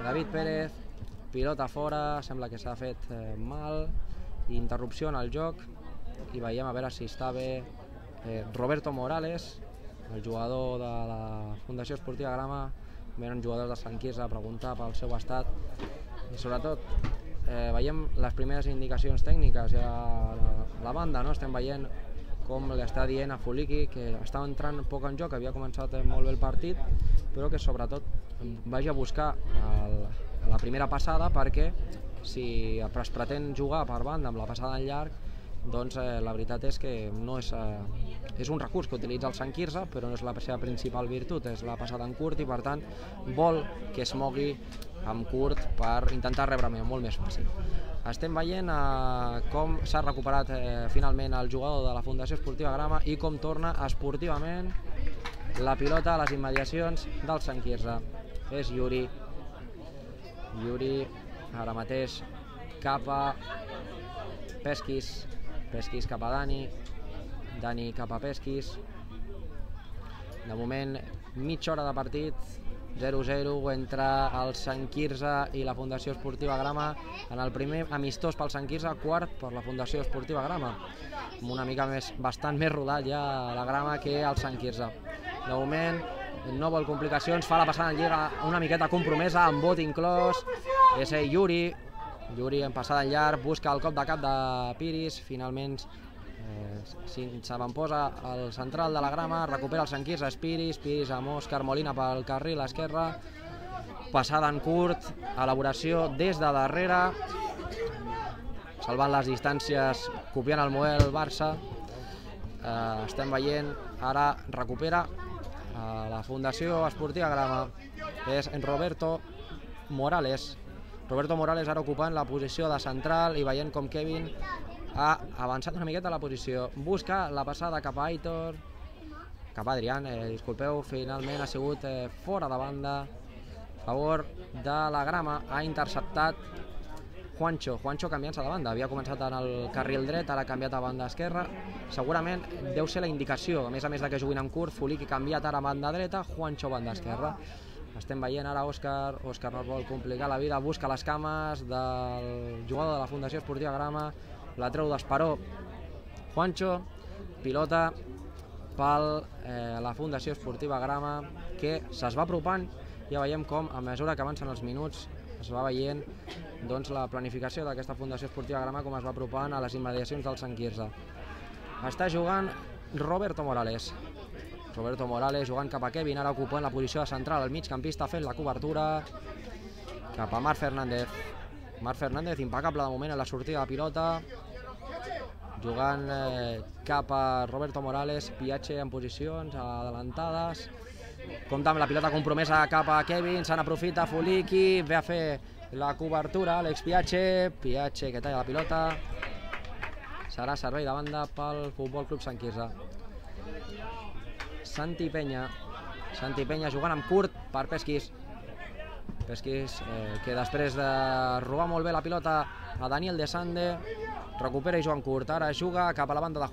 David Pérez, pilota fora, sembla que s'ha fet mal, interrupció en el joc i veiem a veure si està bé Roberto Morales, el jugador de la Fundació Esportiva Grama. Venen jugadors de Sant Quirze a preguntar pel seu estat i sobretot veiem les primeres indicacions tècniques a la banda, estem veient com li està dient a Fuliki que està entrant poc en joc, havia començat molt bé el partit, però que sobretot vagi a buscar la primera passada perquè si es pretén jugar per banda amb la passada en llarg, doncs la veritat és que no és un recurs que utilitza el Sant Quirze, però no és la seva principal virtut, és la passada en curt i per tant vol que es mogui en curt per intentar rebre molt més fàcil. Estem veient com s'ha recuperat finalment el jugador de la Fundació Esportiva Grama i com torna esportivament la pilota a les immediacions del Sant Quirze. És Yuri, ara mateix cap a Pesquis, Pesquis cap a Dani cap a Pesquis. De moment, mitja hora de partit, 0-0 entre el Sant Quirze i la Fundació Esportiva Grama en el primer amistós pel Sant Quirze, quart per la Fundació Esportiva Grama, amb una mica bastant més rodat ja la Grama que el Sant Quirze. De moment no vol complicacions, fa la passada en lliga una miqueta compromesa, amb vot inclòs, és Yuri en passada en llarg, busca el cop de cap de Piris, finalment s'avantposa el central de la Grama, recupera el Sant Quirze, és Piris amb Òscar Molina pel carril esquerre, passada en curt, elaboració des de darrere, salvant les distàncies, copiant el model Barça. Estem veient, ara recupera la Fundació Esportiva Grama, és Roberto Morales. Roberto Morales ara ocupant la posició de central i veient com Kevin ha avançat una miqueta la posició. Busca la passada cap a Aitor, cap a Adrián, disculpeu, finalment ha sigut fora de banda a favor de la Grama. Ha interceptat Juancho canviant-se de banda, havia començat en el carril dret, ara ha canviat a banda esquerra, segurament deu ser la indicació, a més de que juguin en curt, Fuliki canviat ara a banda dreta, Juancho banda esquerra. Estem veient ara Òscar no vol complicar la vida, busca les cames del jugador de la Fundació Esportiva Grama, la treu d'Esperó Juancho, pilota per la Fundació Esportiva Grama que se's va apropant, ja veiem com a mesura que avancen els minuts es va veient la planificació d'aquesta Fundació Esportiva Grama com es va apropant a les immediacions del Sant Quirze. Està jugant Roberto Morales, Roberto Morales jugant cap a Kevin, ara ocupant la posició de central, el migcampista fent la cobertura cap a Marc Fernández. Marc Fernández impecable de moment en la sortida de pilota, jugant cap a Roberto Morales, Piache en posicions adelantades, compta amb la pilota compromesa cap a Kevin, se n'aprofita Fuliki, ve a fer la cobertura Àlex Piache, Piache que talla la pilota, serà servei de banda pel Futbol Club Sant Quirze. Santi Peña jugant amb curt per Pesquis, que després de robar molt bé la pilota a Daniel De Sande, recupera i juga en curt, ara juga cap a la banda de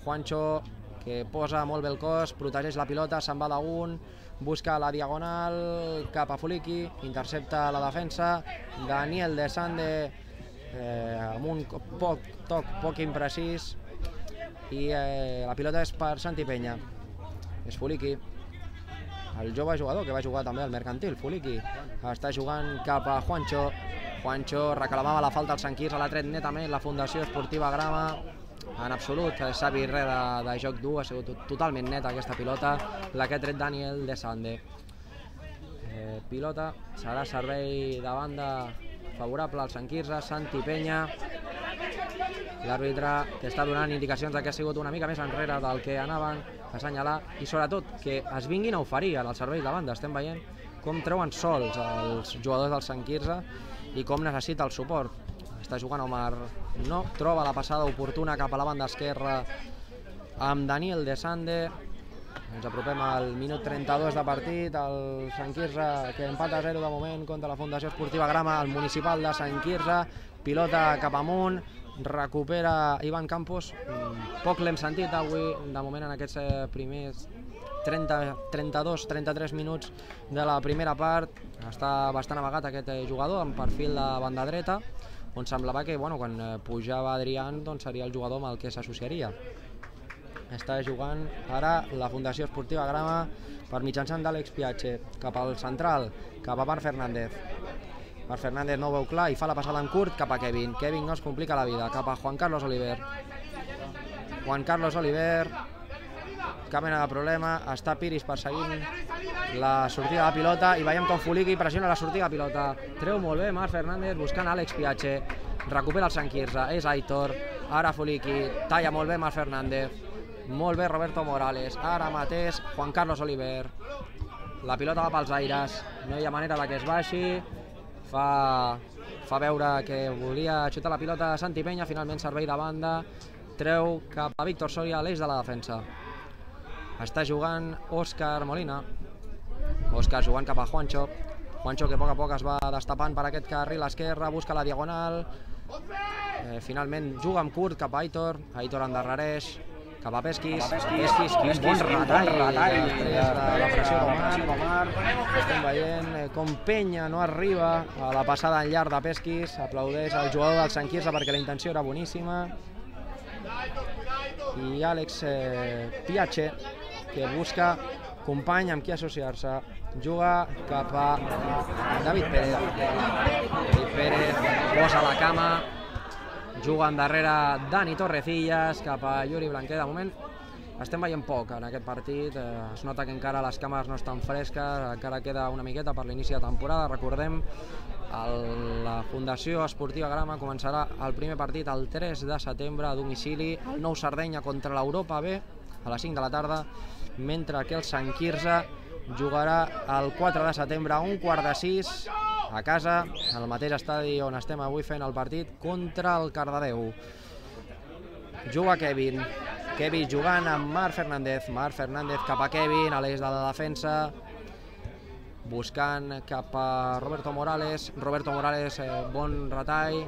Juancho, que posa molt bé el cos, protegeix la pilota, se'n va d'un, busca la diagonal cap a Fuliki, intercepta la defensa, Daniel De Sande amb un poc imprecís, i la pilota és per Santi Peña, és Fuliki, el jove jugador que va jugar també al Mercantil. Fuliki està jugant cap a Juancho reclamava la falta al Sant Quirze, l'ha tret netament la Fundació Esportiva Grama, en absolut s'ha vist res de joc dur, ha sigut totalment neta aquesta pilota, la que ha tret Daniel De Sande. Pilota, serà servei de banda favorable al Sant Quirze, Santi Peña, l'àrbitre que està donant indicacions que ha sigut una mica més enrere del que anaven a assenyalar, i sobretot que es vinguin a oferir en els serveis de banda. Estem veient com treuen sols els jugadors del Sant Quirze i com necessita el suport. Està jugant Omar, no troba la passada oportuna cap a la banda esquerra amb Daniel De Sande. Ens apropem al minut 32 de partit, el Sant Quirze que empata a 0 de moment contra la Fundació Esportiva Grama, el municipal de Sant Quirze, pilota cap amunt, recupera Ivan Campos, poc l'hem sentit avui de moment en aquests primers 32-33 minuts de la primera part. Està bastant amagat aquest jugador amb perfil de banda dreta, on semblava que quan pujava Adrián seria el jugador amb el que s'associaria. Està jugant ara la Fundació Esportiva Grama per mitjançant d'Àlex Piache, cap al central, cap a Marc Fernández. Marc Fernández no ho veu clar i fa la passada en curt cap a Kevin. Kevin no es complica la vida, cap a Juan Carlos Oliver. Cap mena de problema, està Piris perseguint la sortida de pilota i veiem com Fuliki pressiona la sortida de pilota. Treu molt bé Marc Fernández buscant Àlex Piache, recupera el Sant Quirze, és Aitor, ara Fuliki, talla molt bé Marc Fernández, molt bé Roberto Morales, ara mateix Juan Carlos Oliver, la pilota va pels aires, no hi ha manera que es baixi, fa veure que volia xutar la pilota a Santi Peña, finalment servei de banda, treu cap a Víctor Soria, l'eix de la defensa. Està jugant Òscar Molina, Òscar jugant cap a Juancho que a poc es va destapant per aquest carril esquerre, busca la diagonal, finalment juga amb curt cap a Aitor endarrereix, cap a Pesquis, quin bon retall després de la pressió d'Omar. Estem veient com Peña no arriba a la passada en llarg de Pesquis, aplaudeix al jugador del Sant Quirze perquè la intenció era boníssima, i Àlex Piache, que busca company amb qui associar-se, juga cap a David Pérez, posa la cama, juga endarrere Dani Torrecillas cap a Yuri Blanquer. De moment estem veient poc en aquest partit, es nota que encara les càmeres no estan fresques, encara queda una miqueta per l'inici de temporada. Recordem, la Fundació Esportiva Grama començarà el primer partit el 3 de setembre a domicili, el Nou Sardenya contra l'Europa B a les 5 de la tarda, mentre que el Sant Quirze jugarà el 4 de setembre a 5:15 a casa, en el mateix estadi on estem avui fent el partit, contra el Cardedeu. Juga Kevin jugant amb Marc Fernández cap a Kevin, a l'eix de la defensa, buscant cap a Roberto Morales, bon retall,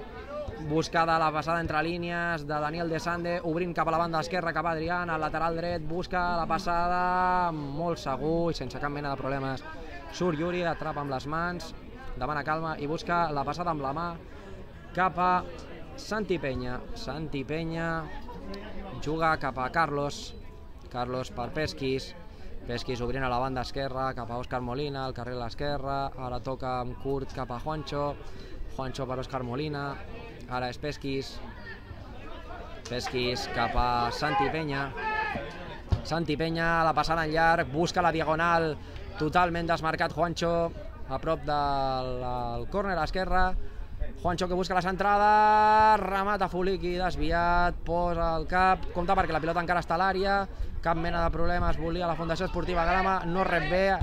buscada la passada entre línies de Daniel De Sande, obrint cap a la banda esquerra, cap a Adrián, al lateral dret, busca la passada, molt segur i sense cap mena de problemes. Surt Yuri, atrapa amb les mans, demana calma i busca la passada amb la mà cap a Santi Peña. Juga cap a Carlos per Pesquis obrint a la banda esquerra cap a Òscar Molina, al carril a l'esquerra, ara toca amb curt cap a Juancho per Òscar Molina, ara és Pesquis cap a Santi Peña Santi Peña, la passada en llarg, busca la diagonal, totalment desmarcat Juancho, a prop del córner a l'esquerra. Juancho que busca la centrada, remata Fuliki, desviat, posa el cap, compta perquè la pilota encara està a l'àrea, cap mena de problemes, volia la Fundació Esportiva Grama, no rep bé,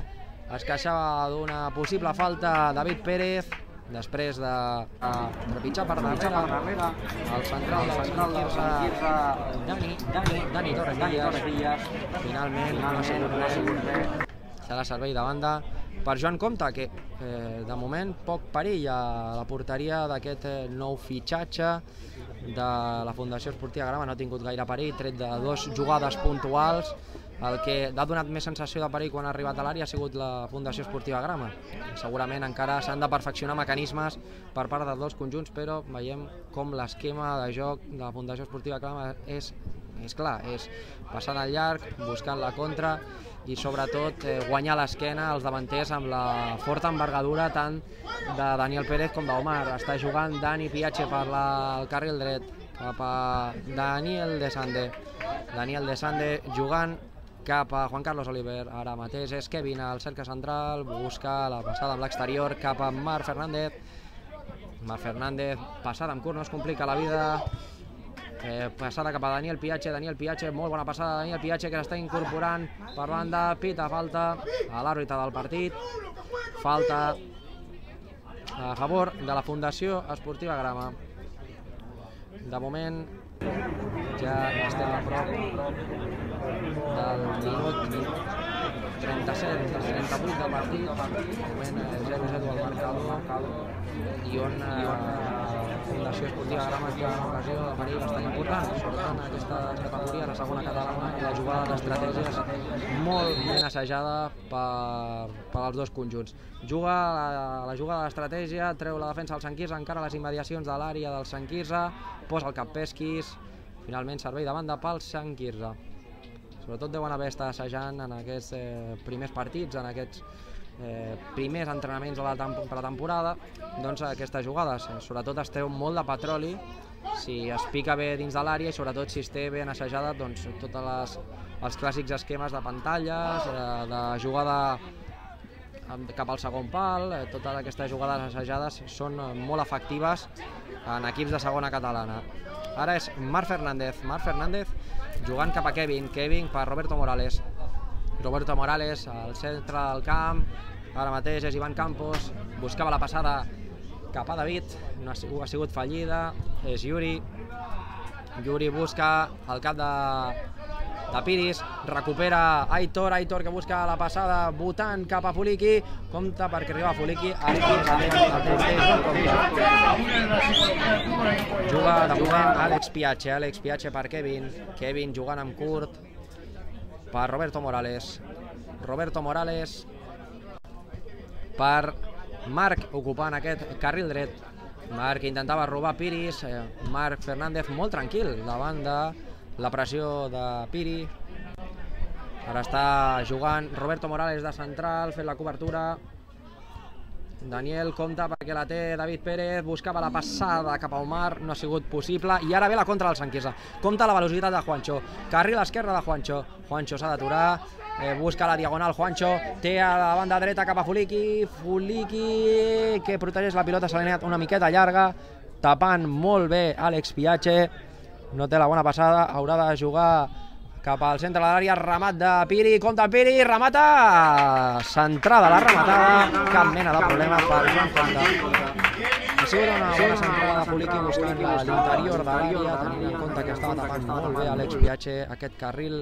es queixava d'una possible falta David Pérez, després de trepitjar per darrere el central de l'Esquirza, Dani Torres Díaz, finalment no ha sigut bé, serà servei de banda per Joan Comte, que de moment poc perill a la porteria d'aquest nou fitxatge de la Fundació Esportiva Grama, no ha tingut gaire perill, tret de 2 jugades puntuals. El que ha donat més sensació de perill quan ha arribat a l'àrea ha sigut la Fundació Esportiva Grama. Segurament encara s'han de perfeccionar mecanismes per part dels dos conjunts, però veiem com l'esquema de joc de la Fundació Esportiva Grama és clar, és passant al llarg, buscant la contra i sobretot guanyar l'esquena als davanters amb la forta envergadura tant de Daniel Pérez com d'Omar. Està jugant Dani Piache per el carril dret cap a Daniel De Sande jugant cap a Juan Carlos Oliver, ara mateix és Kevin al cercle central, busca la passada amb l'exterior cap a Marc Fernández, passada amb curt, no es complica la vida, passada cap a Daniel Piache, molt bona passada de Daniel Piache que s'està incorporant per banda, pita falta a l'àrbitre del partit, falta a favor de la Fundació Esportiva Grama. De moment ja estem a prop del minut 37-38 del partit, de moment 0-0 al marcador i on Fundació Esportiva Grama té una ocasió de perill bastant important, sobretot en aquestes categories, la segona catalana, i la jugada d'estratègia és molt ben assajada pels dos conjunts. Juga la jugada d'estratègia, treu la defensa del Sant Quirze, encara a les immediacions de l'àrea del Sant Quirze, posa el cap Pesquis, finalment servei de banda pel Sant Quirze. Sobretot deuen haver estat assajant en aquests primers partits, en aquests primers entrenaments per la temporada, doncs aquestes jugades. Sobretot es treu molt de petroli si es pica bé dins de l'àrea i sobretot si es té ben assajada doncs, tots els clàssics esquemes de pantalles, de jugada cap al segon pal, totes aquestes jugades assajades són molt efectives en equips de segona catalana. Ara és Marc Fernández jugant cap a Kevin per Roberto Morales, al centre del camp, ara mateix és Ivan Campos, buscava la passada cap a David, no ha sigut fallida, és Yuri busca el cap de Piris, recupera Aitor que busca la passada, votant cap a Fuliki, compta perquè arriba a Fuliki, juga de moment Àlex Piache per Kevin jugant amb curt per Roberto Morales per Marc ocupant aquest carril dret, Marc intentava robar Piris, Marc Fernández molt tranquil davant de la pressió de Piri, ara està jugant Roberto Morales de central, fent la cobertura, Daniel compta perquè la té David Pérez, buscava la passada cap a Omar, no ha sigut possible, i ara ve la contra del Sant Quirze, compta la velocitat de Juancho, carril esquerre de Juancho s'ha d'aturar, busca la diagonal Juancho, té a la banda dreta cap a Fuliki que protegeix la pilota, se l'ha anat una miqueta llarga, tapant molt bé Àlex Piache, no té la bona passada, haurà de jugar cap al centre de l'àrea, remat de Piri, compta Piri, remata, centrada la rematada, cap mena de problema per Joan Comte. Ha sigut una bona centrada de Fuliki buscant l'interior de l'àrea, tenint en compte que estava tapant molt bé Àlex Piache aquest carril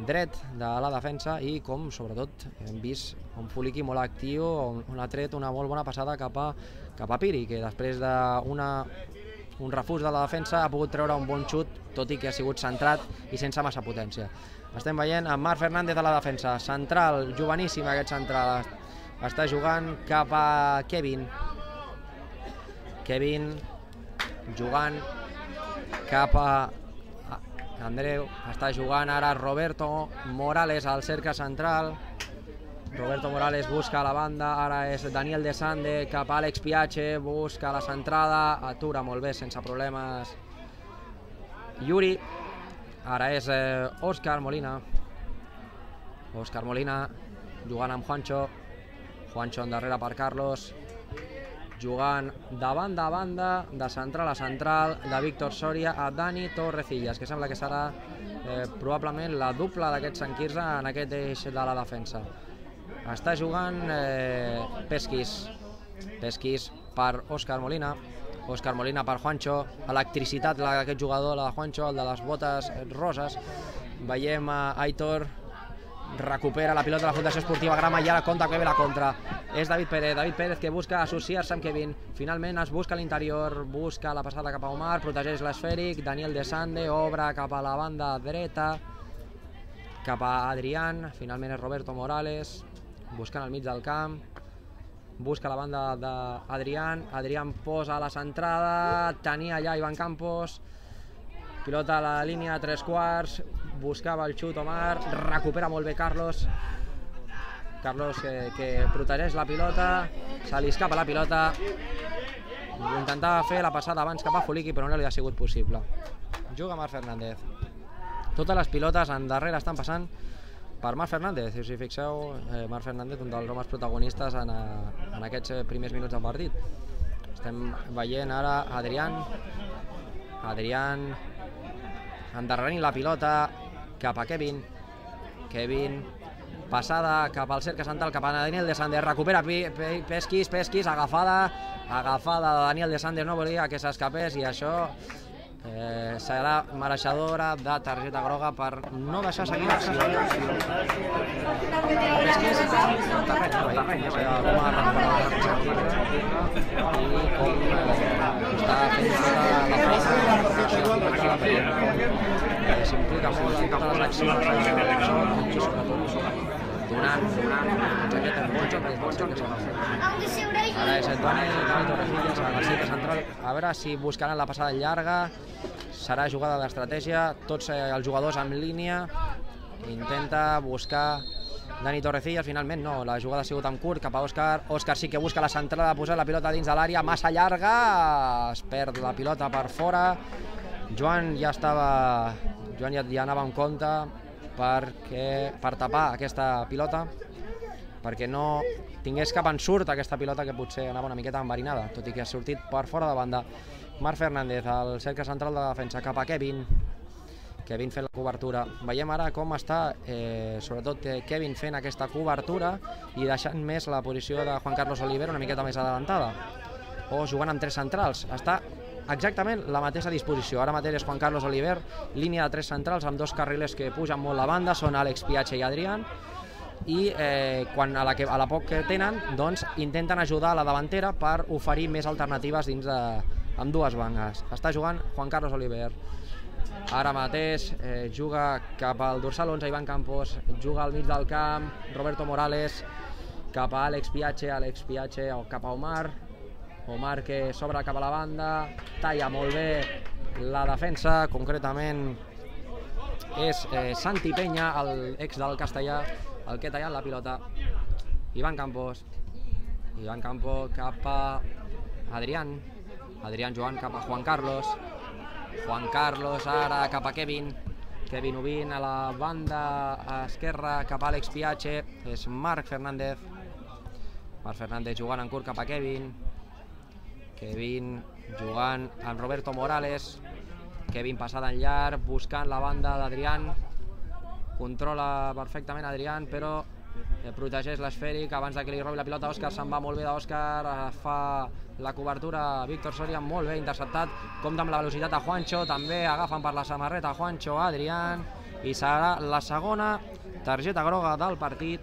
dret de la defensa i com sobretot hem vist un Fuliki molt actiu on ha tret una molt bona passada cap a Piri, que després d'un refús de la defensa ha pogut treure un bon xut, tot i que ha sigut centrat i sense massa potència. Estem veient a Marc Fernández a la defensa, central, joveníssim aquest central, està jugant cap a Kevin jugant cap a Andreu, està jugant ara Roberto Morales al cercle central, Roberto Morales busca a la banda, ara és Daniel De Sande cap a Àlex Piache, busca la centrada, atura molt bé sense problemes Yuri, ara és Òscar Molina. Òscar Molina jugant amb Juancho. Juancho endarrere per Carlos. Jugant de banda a banda, de central a central, de Víctor Soria a Dani Torrecillas, que sembla que serà probablement la dupla d'aquest Sant Quirze en aquest eix de la defensa. Està jugant Pesquis per Òscar Molina. Òscar Molina per Juancho. Electricitat d'aquest jugador, la de Juancho, el de les botes roses. Veiem Aitor. Recupera la pilota de la Fundació Esportiva Grama i ara compta que ve la contra. És David Pérez que busca associar-se amb Kevin. Finalment es busca a l'interior, busca la passada cap a Omar, protegeix l'esfèric. Daniel De Sande obre cap a la banda dreta, cap a Adrián. Finalment és Roberto Morales, buscant al mig del camp. Busca la banda d'Adrián. Adrián posa la centrada, tenia allà Iván Campos. Pilota a la línia de 3/4, buscava el xut Omar, recupera molt bé Carlos. Carlos que protegeix la pilota, se li escapa la pilota. Intentava fer la passada abans cap a Fuliki, però no li ha sigut possible. Juga Marc Fernández. Totes les pilotes endarrere estan passant per Marc Fernández. Si us hi fixeu, Marc Fernández, un dels homes protagonistes en aquests primers minuts del partit. Estem veient ara Adrián endarrerint la pilota cap a Kevin. Passada cap al cercle central, cap a Daniel De Sande. Recupera Pesquis, agafada de Daniel De Sande. No volia que s'escapés i això serà mereixedora de targeta groga per no deixar seguir l'acció. Pesquis en terreny, com ha recuperat i com està fent tota la feina, s'implica molt en totes les accions i sobretot donant aquest bon joc que s'ha de fer. Ara és Dani Torrecillas a la cerca central. A veure si buscaran la passada llarga. Serà jugada d'estratègia, tots els jugadors en línia. Intenta buscar Dani Torrecillas, finalment no, la jugada ha sigut en curt cap a Òscar. Òscar sí que busca la centrada, posar la pilota dins de l'àrea, massa llarga, es perd la pilota per fora. Joan ja anava en compte per tapar aquesta pilota, perquè no tingués cap ensurt aquesta pilota, que potser anava una miqueta enverinada, tot i que ha sortit per fora de banda. Marc Fernández, al cercle central de defensa, cap a Kevin fent la cobertura. Veiem ara com està, sobretot Kevin fent aquesta cobertura i deixant més la posició de Juan Carlos Oliver una miqueta més adelantada, o jugant amb 3 centrals. Està exactament la mateixa disposició. Ara mateix és Juan Carlos Oliver, línia de 3 centrals amb 2 carrilers que pugen molt la banda, són Àlex Piache i Adrián, i quan a la poc que tenen, doncs intenten ajudar a la davantera per oferir més alternatives dins amb 2 bandes. Està jugant Juan Carlos Oliver. Ara mateix juga cap al dorsal 11 Iván Campos, juga al mig del camp Roberto Morales, cap a Àlex Piache o cap a Omar que s'obre cap a la banda, talla molt bé la defensa, concretament és Santi Peña, l'ex del Castellà, el que ha tallat la pilota. Iván Campos cap a Adrián jugant cap a Juan Carlos ara cap a Kevin Ubin, a la banda esquerra cap a Àlex Piache, és Marc Fernández jugant en curt cap a Kevin jugant amb Roberto Morales. Kevin passada en llarg, buscant la banda d'Adrián, controla perfectament Adrián, però protegeix l'esfèric abans que li robi la pilota. Òscar se'n va molt bé d'Òscar, fa la cobertura Víctor Soria, molt bé interceptat, compta amb la velocitat a Juancho, també agafen per la samarreta Juancho, Adrián, i serà la segona targeta groga del partit.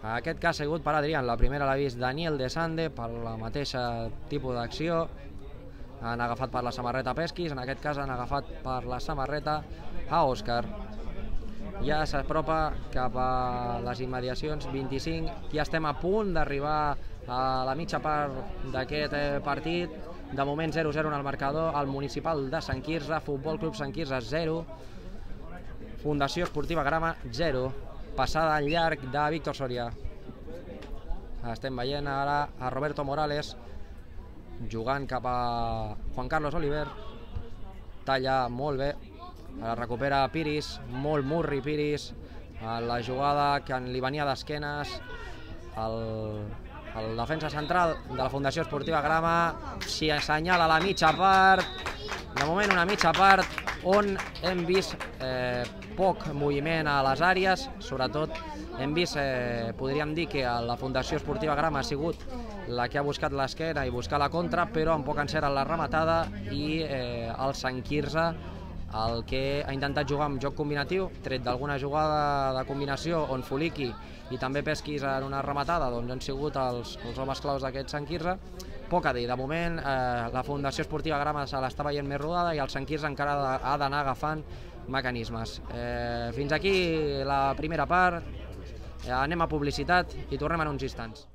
En aquest cas ha sigut per Adrián, la primera l'ha vist Daniel De Sande per la mateixa tipus d'acció. Han agafat per la samarreta Pesquis, en aquest cas han agafat per la samarreta a Òscar. Ja s'apropa cap a les immediacions 25, ja estem a punt d'arribar a la mitja part d'aquest partit. De moment 0-0 en el marcador, el Municipal de Sant Quirze, Futbol Club Sant Quirze 0, Fundació Esportiva Grama 0. Passada en llarg de Víctor Soria. Estem veient ara a Roberto Morales jugant cap a Juan Carlos Oliver, talla molt bé, ara recupera Piris, molt murri Piris, la jugada que li venia d'esquenes el defensa central de la Fundació Esportiva Grama. S'hi assenyala la mitja part, de moment una mitja part on hem vist poc moviment a les àrees, sobretot hem vist, podríem dir que la Fundació Esportiva Grama ha sigut la que ha buscat l'esquena i buscar la contra, però amb poc encert en la rematada, i el Sant Quirze el que ha intentat jugar amb joc combinatiu, tret d'alguna jugada de combinació on Fuliqui i també Pesquis en una rematada doncs han sigut els homes claus d'aquest Sant Quirze. Poc a dir, de moment la Fundació Esportiva Grama se l'està veient més rodada i el Sant Quirze encara ha d'anar agafant mecanismes. Fins aquí la primera part, anem a publicitat i tornem en uns instants.